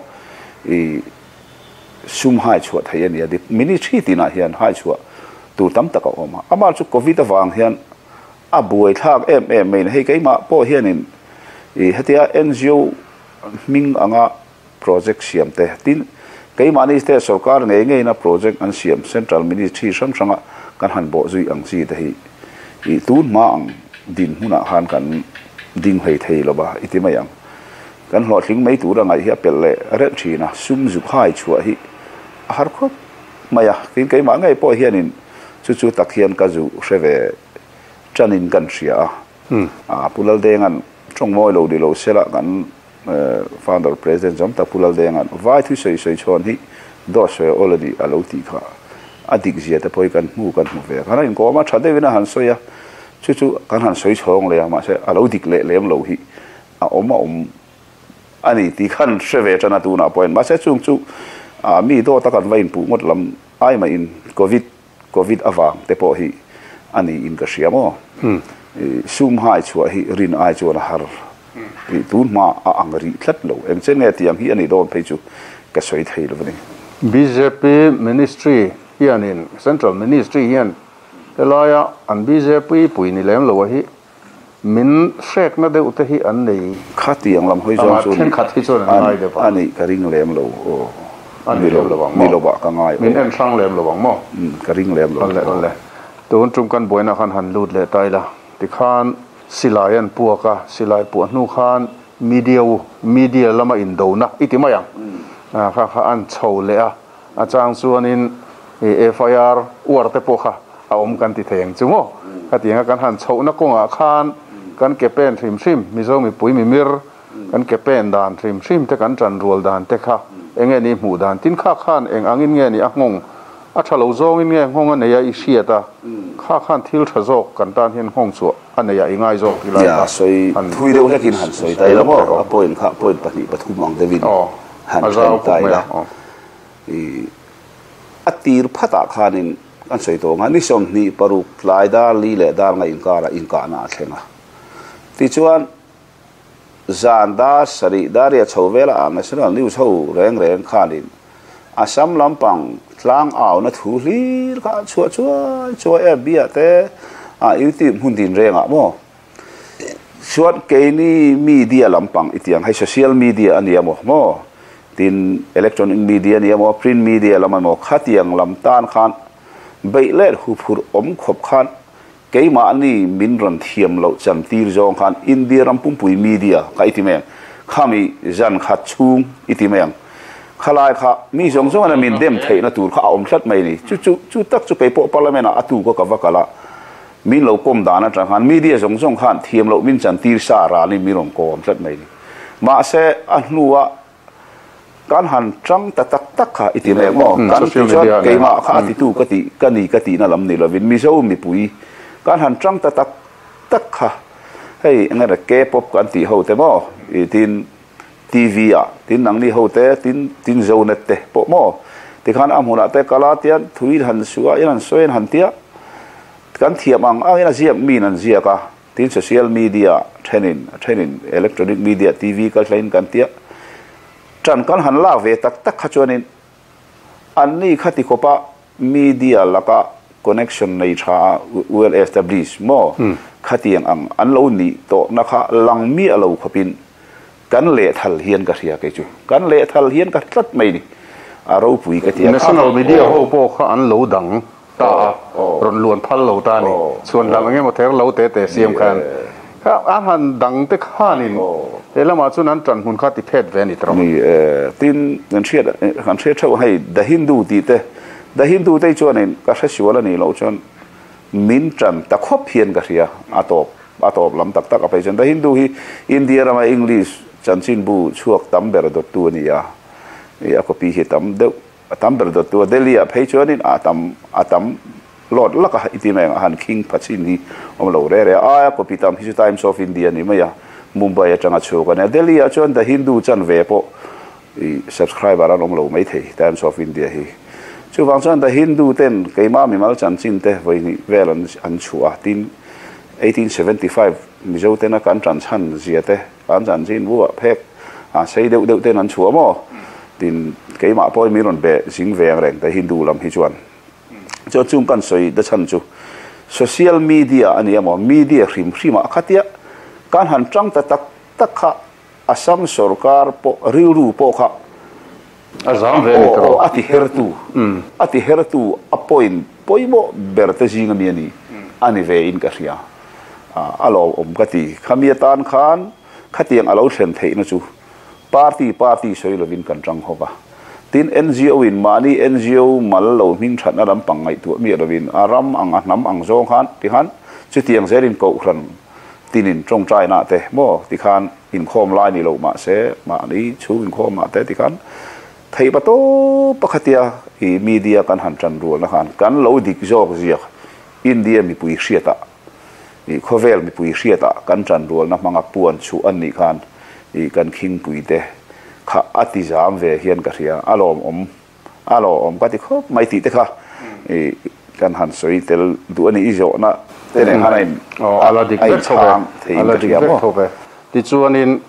i sum hai chhuah theih a ni a. Ministry tinah hian hai chhuah tur tam tak a awm a. Amah chu covid avang hian a buaithlak em em mai a ni. Hei keimah pawh hianin i hetia NGO hming anga project siam te, tin keimahni te sorkar ngei ngeina project an siam central ministry hrang hranga kan han bawh zui ang chi te hi i tun hma ang din hmunah khan kan ding hlei thei lo va i ti mai ang. Kan hlawhtling mai tura ngaih hi a pelh leh reuh thin a, sum zuk hai chhuah hi a har khawp mai a, tin keimah ngei pawh hianin chu chu tak hian ka zu hre ve tanin kan hria a, a Pu Laldenga'n tawngmawi lo ni lo sela kan Founder President zawm tak Pu Laldenga'n vai thu sawi sawi chhawn hi dawt sawi a awl a ni a lo tih kha a dik zia te pawh hi kan hmu kan hmu ve. Kan inkawm a tha deuhin a han sawi a, chu chu kan han sawi chhawng leh a, mahse a lo dik leh lem lo hi a awm a awm a ni tih khan hre ve tan a tunah pawhin. Mahse chung chu mi dawt a kan va inpuh ngawt lam ai mahin Covid Covid avang te pawh hi a niin ka hria maw? Sum hai chhuah hi rin ai chuan a har tih tun hma a ang rih tlat lo. Eng chen nge tiang hi a nih dawn phei chu ka sawi thei lo a ni. Bjp Ministry hianin, Central Ministry hian helaia an bjp pui ni lem lo a hi min hrekna deuh te hi an nei. Khatiang lam hawi zawng chu thenkhat hi chuan an ngai deuh a. A nih ka ring lem lo aw. A ni lem lo ang maw? Ni lovah ka ngai aw. Min en hrang lem lo ang maw? Umm ka ring lem lo. Awle awle. Tun tum kan buaina khan han lut leh ta ila. Tikhan silai an puak a, silai puah hnu khan media u, media lama indona i ti mai ang. Kha kha an chho leh a, A chang chuanin FIR uar te pawh kha a awm kan ti thei ang chu maw? Khatianga kan han chhohna kawngah khan kan ke pen hrim hrim, Mizo mipui mimir kan ke pen dan hrim hrim te kan tan rual dan te kha eng nge ni hmuh dan? Tin kha khan eng angin nge ni a nghawng? A tha lo zawngin nge nghawng a nei a i hriat a? Kha khan thil tha zawk kan tan hian nghawng chhuah a nei a i ngai zawk ti lai kha han thui deuh hlekin han sawi ta ila maw? A point kha point pahnih pathum ang deuhin han then ta ila. I a tir phatah khanin kan sawi tawh ang a, ni 26 tlai dar li leh dar nga inkarah inkahna a thleng a. Tichuan, zan dar sarih dar riah chho velah ah National News ho reng reng khanin Assam lampang tlang auna thu hlir kha an chhuah chuai chuai e, bia te ah YouTube hmun din rengah maw. Chuan keini media lampang i tiang hei social media a nia maw maw tin electronic media a nia maw print media lam a maw khatiang lam tan khan beih let huphurh awm khawp khan keimahni min rawn thiam loh chan tir zawng khan India ram pumpui media kha i ti mai ang khami zan khat chhung i ti mai ang khalai kha mi zawng zawng in min dem theihna tur kha a awm tlat mai a ni chu chu chu tak chu keipawh parliament ah a tu ka ka va kal a. Min lo kawm dan atang khan media zawng zawng khan thiam loh min chantir sa ranin min rawn kawm tlat mai ni. Mahse a hnua kan han tang ta tak tak kha i ti leh maw? Kan ti chuan keimah kha a titu ka tih ka ni ka tihna lam ni lovin Mizo mipui kan han tang ta tak tak kha hei eng nge K-pop kan tih ho te maw i tin TV ah tin nangni ho te tin tin Zonet te pawh maw tikhan a hmunah te kala tian thui han suah in han sawi an han tia kan thiam ang ang in a ziak mi in an ziak a tin social media thenin a thenin electronic media TV kal thleng in kan tia tan kan han lak ve tak tak kha chuanin anni kha ti khawpa media laka connection nei tha a well established maw khatiang ang an lo nih tawhna kha lang miah lo khawpin kan lehthal hian ka hria kei chu kan lehthal hian ka tlat mai ni a ropui ka ti a. National media ho pawh kha an lo dang ta a rawn luan phal lo ta a ni chhuan dang eng emaw ther lo te te siam khan kha a han dang te khanin. He lamah chuan an ṭan hmun kha ti phet ve a ni tawh. Ni e, tin kan hriat kan hriat theuh hei The Hindu tih te, The Hindu te hi chuanin ka hre sual a nih loh chuan min ṭan ta khawp hian ka hria a tawp a tawp lam tak tak a phei chuan The Hindu hi India rama English chanchinbu chhuak tam ber dawttu a ni a, a copy hi tam deuh A tam ber dawttu a Delhi ah phei chuanin a tam a tam lawt lak a i ti mai ang a han khing pha chin hi awm lo re re a aia copy tam hi chu Times of India ni mai a Mumbai atanga chhuak a nia Delhi ah chuan The Hindu chan ve pawh i subscriber an awm lo mai thei Times of India hi chuvang chuan The Hindu ten keimah mimal chanchin te vawihnih vel an an chhuah a tin 1875 Mizo tena kan tan chhan zia te An chanchin bu ah phek a sei deuh deuh ten an chhuah maw? Tin, keimah pawhin min rawn be zing ve ang reng te Hindu lam hi chuan. Chuan chung kan sawi da chhan chu social media a ni emaw media hrim hrim ah khatia kan han tang ta tak tak kha Assam sorkar pawh rilru pawh kha A zam ve a ni tawh. A ti hertu a ti hertu a point pawimawh ber te zing ami a ni a ni ve in ka hria. A lawmawm ka ti. Khami atan khan khatiang a lo thlen theihna chu party party sawi lovin kan tang hawk a. Tin NGO in mahni NGO mal lo hming thatna lampang ngaihtuah miah lovin a ram ang a hnam ang zawng khan tikhan chutiang zelin kohhran tinin tawngtaina te maw tikhan inkhawm lai ni lo mahse mahni chhung inkhawm ah te tikhan theih pa tawp pakhatia i media kan han tan rualna khan kan lo dik zawk ziak India mipui hriatah i khawvel mipui hriatah kan tan rualna hmanga puan chhuh an nih khan i kan khingpui te kha a ti zam ve hian ka hria a lawmawm A lawmawm ka ti khawp mai tih te kha i kan han sawi tel duh a ni. I zawhna te nen khan a in a in chhang theiin ka hria maw? Tichuanin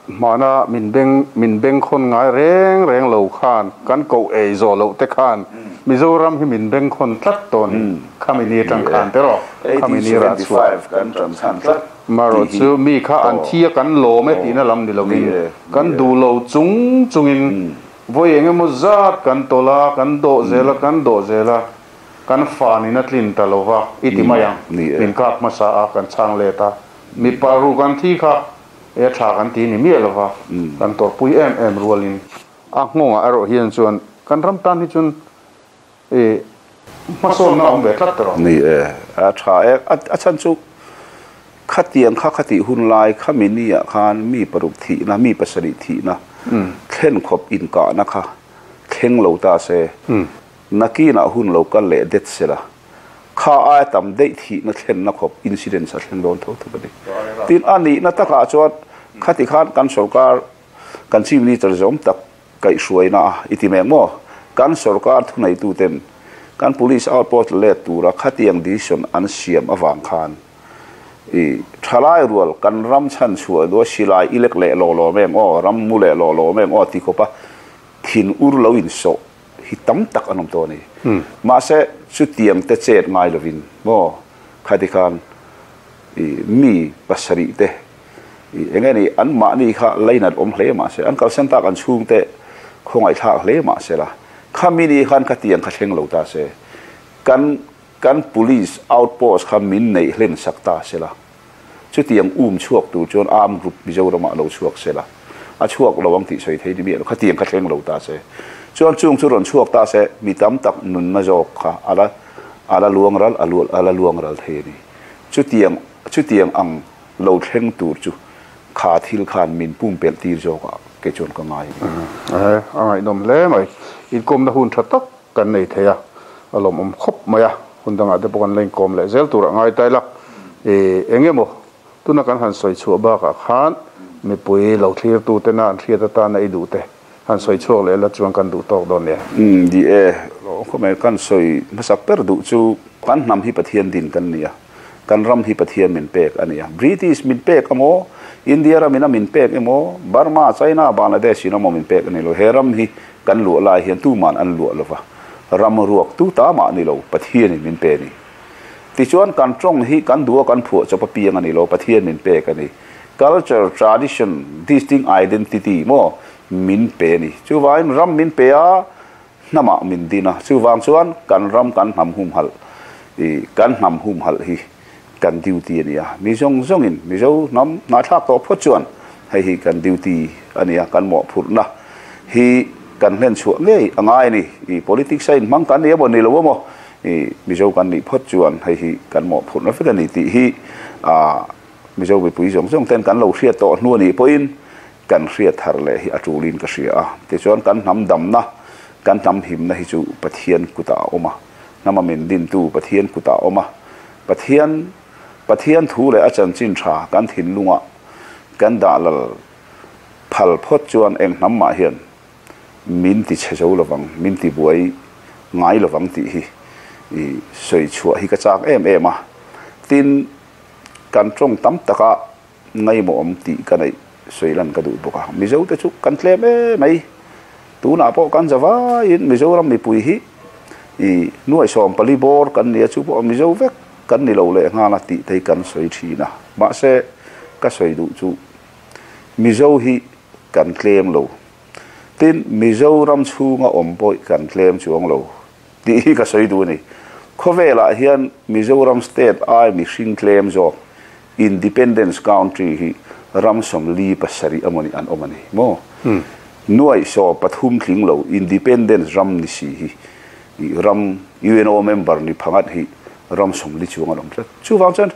hmana min beng min bengkhawn ngai reng reng lo khan kan koh ei zawh loh te khan Mizoram hi min bengkhawn tlat tawh ni. Khami ni atang khan te rawh. Khami ni rah chhuah. Marawh chu mi kha an thi a kan lawm e tihna lam ni lovin kan duh lo chung chungin Vawi eng emaw zat kan tawlh a, kan dawh zel a, kan dawh zel a, kan fanin a tlin ta lo va, i ti mai ang. Min kap hmasa a, kan chhang let a. Mipa ru kan thi kha e tha kan ti ni miah lo va, kan tawrhpui em em rualin. A nghawngah erawh hian chuan kan ram tan hi chuan e hmasawnna a awm ve tlat tawh. Ni e, a tha e. A chhan chu khatiang kha khatih hun lai khami ni ah khan mi paruk thihna, mi pasarih thihna thlen khawp inkahna kha thleng lo ta se, nakinah hun lo kal leh det se la, kha aia tam daih thihna thlenna khawp incidents a thleng dawn tho thawk a ni. Tin, a nihna takah chuan khati khan kan sorkar, kan Chief Minister zawm tak Kaihhruaina a i ti mek maw? Kan sorkar thuneituten kan police outpost let tura khatiang decision an siam avang khan i thalai rual kan ram chhan chhuah duh a silai i lek leh lawh lawm em aw, ram mu leh lawh lawm em aw ti khawpa thin ur lo insawh hi tam tak an awm tawh a ni. Mahse chutiang te chet ngai lovin maw khati khan i mi pasarih te Eng nge ni, an mahni kha lainat awm hle mah se, an kalsan tak an chhungte khawngaihthlak hle mah se la, khami ni khan ka tiang kha thleng lo ta se, kan kan police outpost kha min neih hlen sak ta se la, chutiang um chhuak tur chuan armed group Mizoramah lo chhuak se la, a chhuak lo ang tih sawi thei ni miah lo, khatiang kha thleng lo ta se, chuan chung chu rawn chhuak ta se, mi tam tak nunna zawk kha a la a la luang ral a la luang ral thei a ni. Chutiang chutiang ang. Lo thleng tur chu kha thil khan min pumpelh tir zawk ah kei chuan ka ngai a ni. Ahe, a ngaihnawm hle mai. Inkawmna hun tha tak kan nei thei a, a lawmawm khawp mai a. Hun dangah te pawh kan la inkawm leh zel turah ngai ta ila. I eng emaw tuna kan han sawi chhuah bakah khan mipui lo thlirtu tena an hriat atana i duh te han sawi chhuak leh la chuan kan duh tawk dawn nia. Umm di e, lawm khawp mai. Kan sawi hmasak ber duh chu kan hnam hi Pathian din kan ni a. Kan ram hi Pathian min pek a nia. British min pek emaw, India ram in a min pek emaw, Burma, China, Bangladesh in emaw min pek a ni lo. He ram hi kan luah lai hian tuman an luah lova, ram ruak tu ta mah ni lo, Pathian in min pe a ni. Tichuan kan tawng hi kan duh a kan phuah chawp apiang a ni lo, Pathian min pek a ni. Culture, tradition, distinct identity maw min pe a ni. Chuvangin ram min pe a, Hnamah min din a, chuvang chuan kan ram kan hnam humhalh i kan hnam humhalh hi kan duty a ni a, mi zawng zawngin Mizo hnam hnahthlak tawh phawt chuan Hei hi kan duty a nia, kan mawhphurhna hi kan hlen chhuah ngei a ngai a ni. I politics a inhmang kan ni emaw ni lo emaw, i Mizo kan nih phawt chuan hei hi kan mawhphurhna vek a ni tih hi Mizo mipui zawng zawng ten kan lo hriat tawh hnu a nih pawhin kan hriat thar leh hi a tulin ka hria a. Tichuan kan hnam damna, kan hnam himna hi chu Pathian kutah a awm a, hnama min dintu Pathian kutah a awm a, Pathian Pathian thu leh a chanchin tha kan thinlungah kan dah lal phal phawt chuan eng hnam mah hian min ti chhe zo lovang, min ti buai ngai lovang tih hi i sawi chhuah hi ka chak em em a. Tin, kan tawng tam taka ngaimawhawm tih ka neih sawi lan ka duh bawk a. Mizo te chu kan tlem em mai. Tunah pawh kan za vaiin Mizoram mipui hi i nuaih 14 bawr kan nia chu pawh Mizo vek kan ni lo leh nghal a tih te hi kan sawi thin a. Mahse ka sawi duh chu Mizo hi kan tlem lo. Tin, Mizoram chhunga awm pawh kan tlem chuang lo tih hi ka sawi duh a ni. Khawvelah hian Mizoram state ai mihring tlem zawk Independence country hi ram 47 a mawni an awm a ni maw? Nuaih 13 tling lo independence ram ni si hi ram UNO member ni phangat hi ram 40 chuang an awm tlat. Chuvang chuan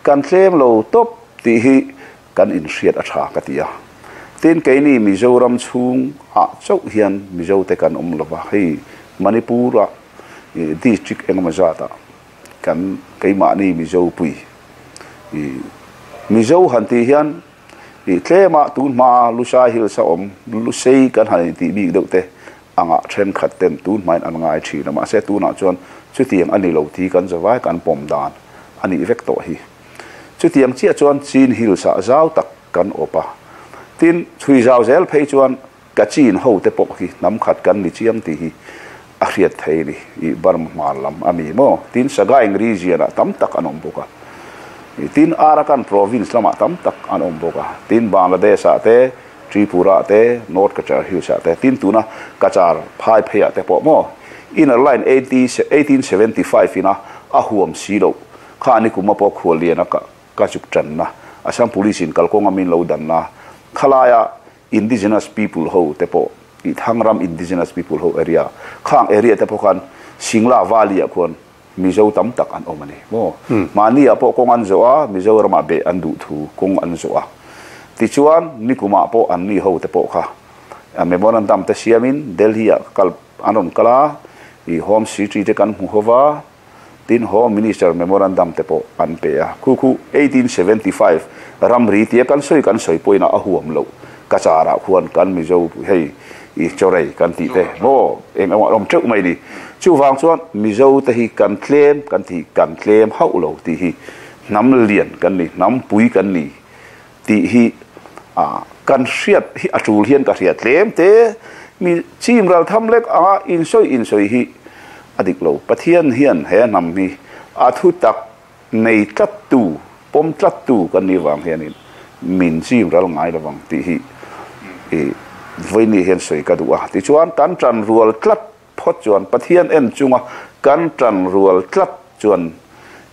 kan tlem lo tawp tih hi kan inhriat a tha ka ti a. Tin, keini Mizoram chhung ah chauh hian Mizo te kan awm lova, hei Manipur ah district engemaw zat ah Kan keimahni Mizo pui i Mizo han tih hian i tlema tun hmaa Lusai Hills a awm Lusei kan han intih bik deuh te angah thenkhat ten tun hmain an ngai thin a, mahse tunah chuan chutiang a ni lo tih kan zavai kan pawm dan a nih vek tawh hi. Chutiang chiah chuan Chin Hills ah zau tak kan awp a, tin chhui zau zel phei chuan Kachin ho te pawh hi hnam khat kan ni chiang tih hi a hriat thei a ni. I Burma hmar lam a mi maw? Tin Sagaing region ah tam tak an awm bawk a. Tin Arakan province lamah tam tak an awm bawk a. Tin Bangladesh ah te, Tripura ah te, North Cachar Hills ah te, tin tuna Cachar phai phei ah te pawh maw? Inner Line 1875 ina a huam si loh kha ni kum a pawh khuallian a ka chuk tanna Assam Police in kalkawnga min lo danna khalaia Indigenous people ho te pawh i Thangram indigenous people ho area khang area te pawh khan Singla valley ah khuan Mizo tam tak an awm a ni maw? Mahni ah pawh kawng an zawh a, Mizoram ah beh an duh thu kawng an zawh a. Tichuan nikum ah pawh an ni ho te pawh kha memorandum te siam in Delhi ah kal an rawn kal a, i Home Secretary te kan hmu ho va, Tin, Home Minister Memorandum te pawh an pe a. Khu khu 1875 ramri tia kan sawi kan sawi pawhin a huam loh. Ka charah khuan kan Mizo hei i chawrei kan tih te maw eng emaw a awm teuh mai ni. Chuvang chuan Mizo te hi kan tlem kan tih kan tlem hauh lo tih hi hnam lian kan ni, hnam pui kan ni tih hi kan hriat hi a tul hian ka hria tlem te mi chim ral tham lek anga insawi insawi hi a dik lo. Pathian hian he hnam hi a thu tak nei tlat tu, pawm tlat tu kan nih vang hianin min chim ral ngai lovang tih hi i vawiini hian sawi ka duh a. Tichuan kan tan rual tlat Phawt chuan Pathian en chunga kan tan rual tlat chuan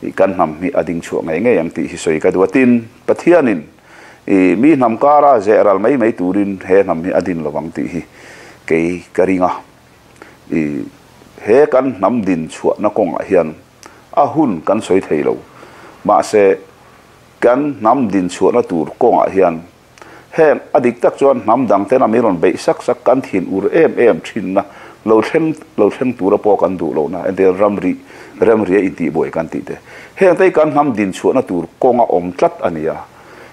i kan hnam hi a ding chhuah ngei ngei ang tih hi sawi ka duh a. Tin, Pathianin i mi hnam kara zeh ral mai mai turin he hnam hi a din lo ang tih hi kei ka ring a. I he kan hnam din chhuahna kawngah hian a hun kan sawi thei lo. Mahse, kan hnam din chhuahna tur kawngah hian Heng a dik tak chuan hnam dang ten a mi rawn beih sak sak kan thin ur em em thinna lo thleng lo thleng tura pawh kan duh lohna entir ramri remria intihbuai kan tih te. Heng te hi kan hnam dinchhuahna tur kawng a awm tlat a ni a.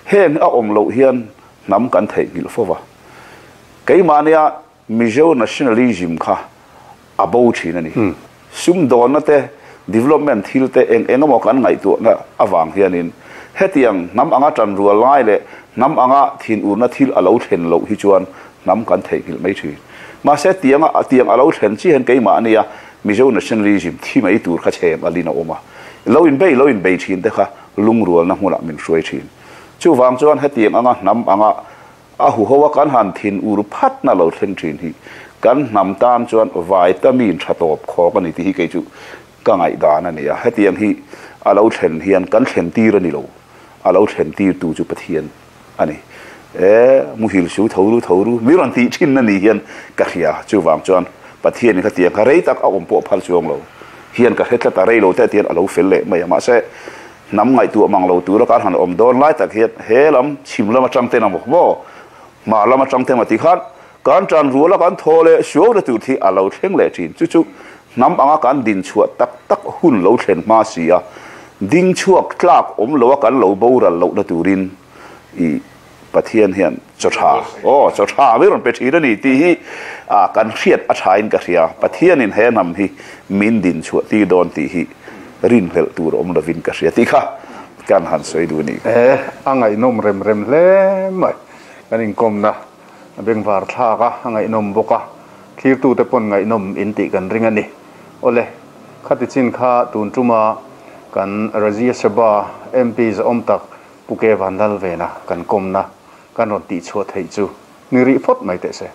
Heng a awm loh hian hnam kan theihnghilh fo va. Keimahnia Mizo nationalism kha a bo thin a ni. Sumdawnna te, development thil te eng eng emaw kan ngaihtuahna avang hianin hetiang hnam anga tanrual lai leh hnam anga thinurna thil a lo thlen loh hi chuan hnam kan theihnghilh mai thin. Mahse tianga tiang a lo thlen chiah hian keimahnia Mizo nationalism thi mai tur kha chhem alin a awm a. Lo inbei lo inbei thin te kha lungrualna hmunah min hruai thin. Chuvang chuan hetiang anga hnam anga A huho a kan han thin ur phat na lo thleng thin hi kan hnam tan chuan vitamin tha tawp khawk a ni tih hi kei chu ka ngaihdan a ni a. Hetiang hi a lo thlen hian kan thlen tir a ni lo, a lo thlen tir tu chu Pathian a ni. E muhil su tho ru tho ru mi rawn tih thin na ni hian ka hria. Chuvang chuan Pathianin khatiang kha rei tak a awm pawh phal chuang lo hian ka hre tlat a, rei lo te tihian a lo fel leh mai a. Mahse hnam ngaihtuah mang lo tura kan han awm dawn lai tak hian he lam chhim lam atang ten a maw maw hmar lam atang te maw ti khan kan tan rual a kan thaw leh suau na tur thi a lo thleng leh thin. Chu chu hnam anga kan din chhuah tak tak hun lo thlen hma si a, ding chhuak tlak awm lo a kan lo boral lohna turin i Pathian hian chaw tha, aw chaw tha mai rawn pe thin a ni tih hi kan hriat a thain ka hria. Pathianin he hnam hi min din chhuah tir dawn tih hi rinhlelh tur awm lovin ka hria tih kha kan han sawi duh a ni. E, a ngaihnawm rem rem hle mai. Kan inkawmna a bengvar thlak a, a ngaihnawm bawk a. Thlirtute pawn ngaihnawm in tih kan ring a ni. Awle, khati chin kha tun tuma kan Rajya Sabha MP zahawm tak Pu Ke Vanlal vena kan kawmna kan rawn tihchhuah theih chu ni rih phawt mai teh se.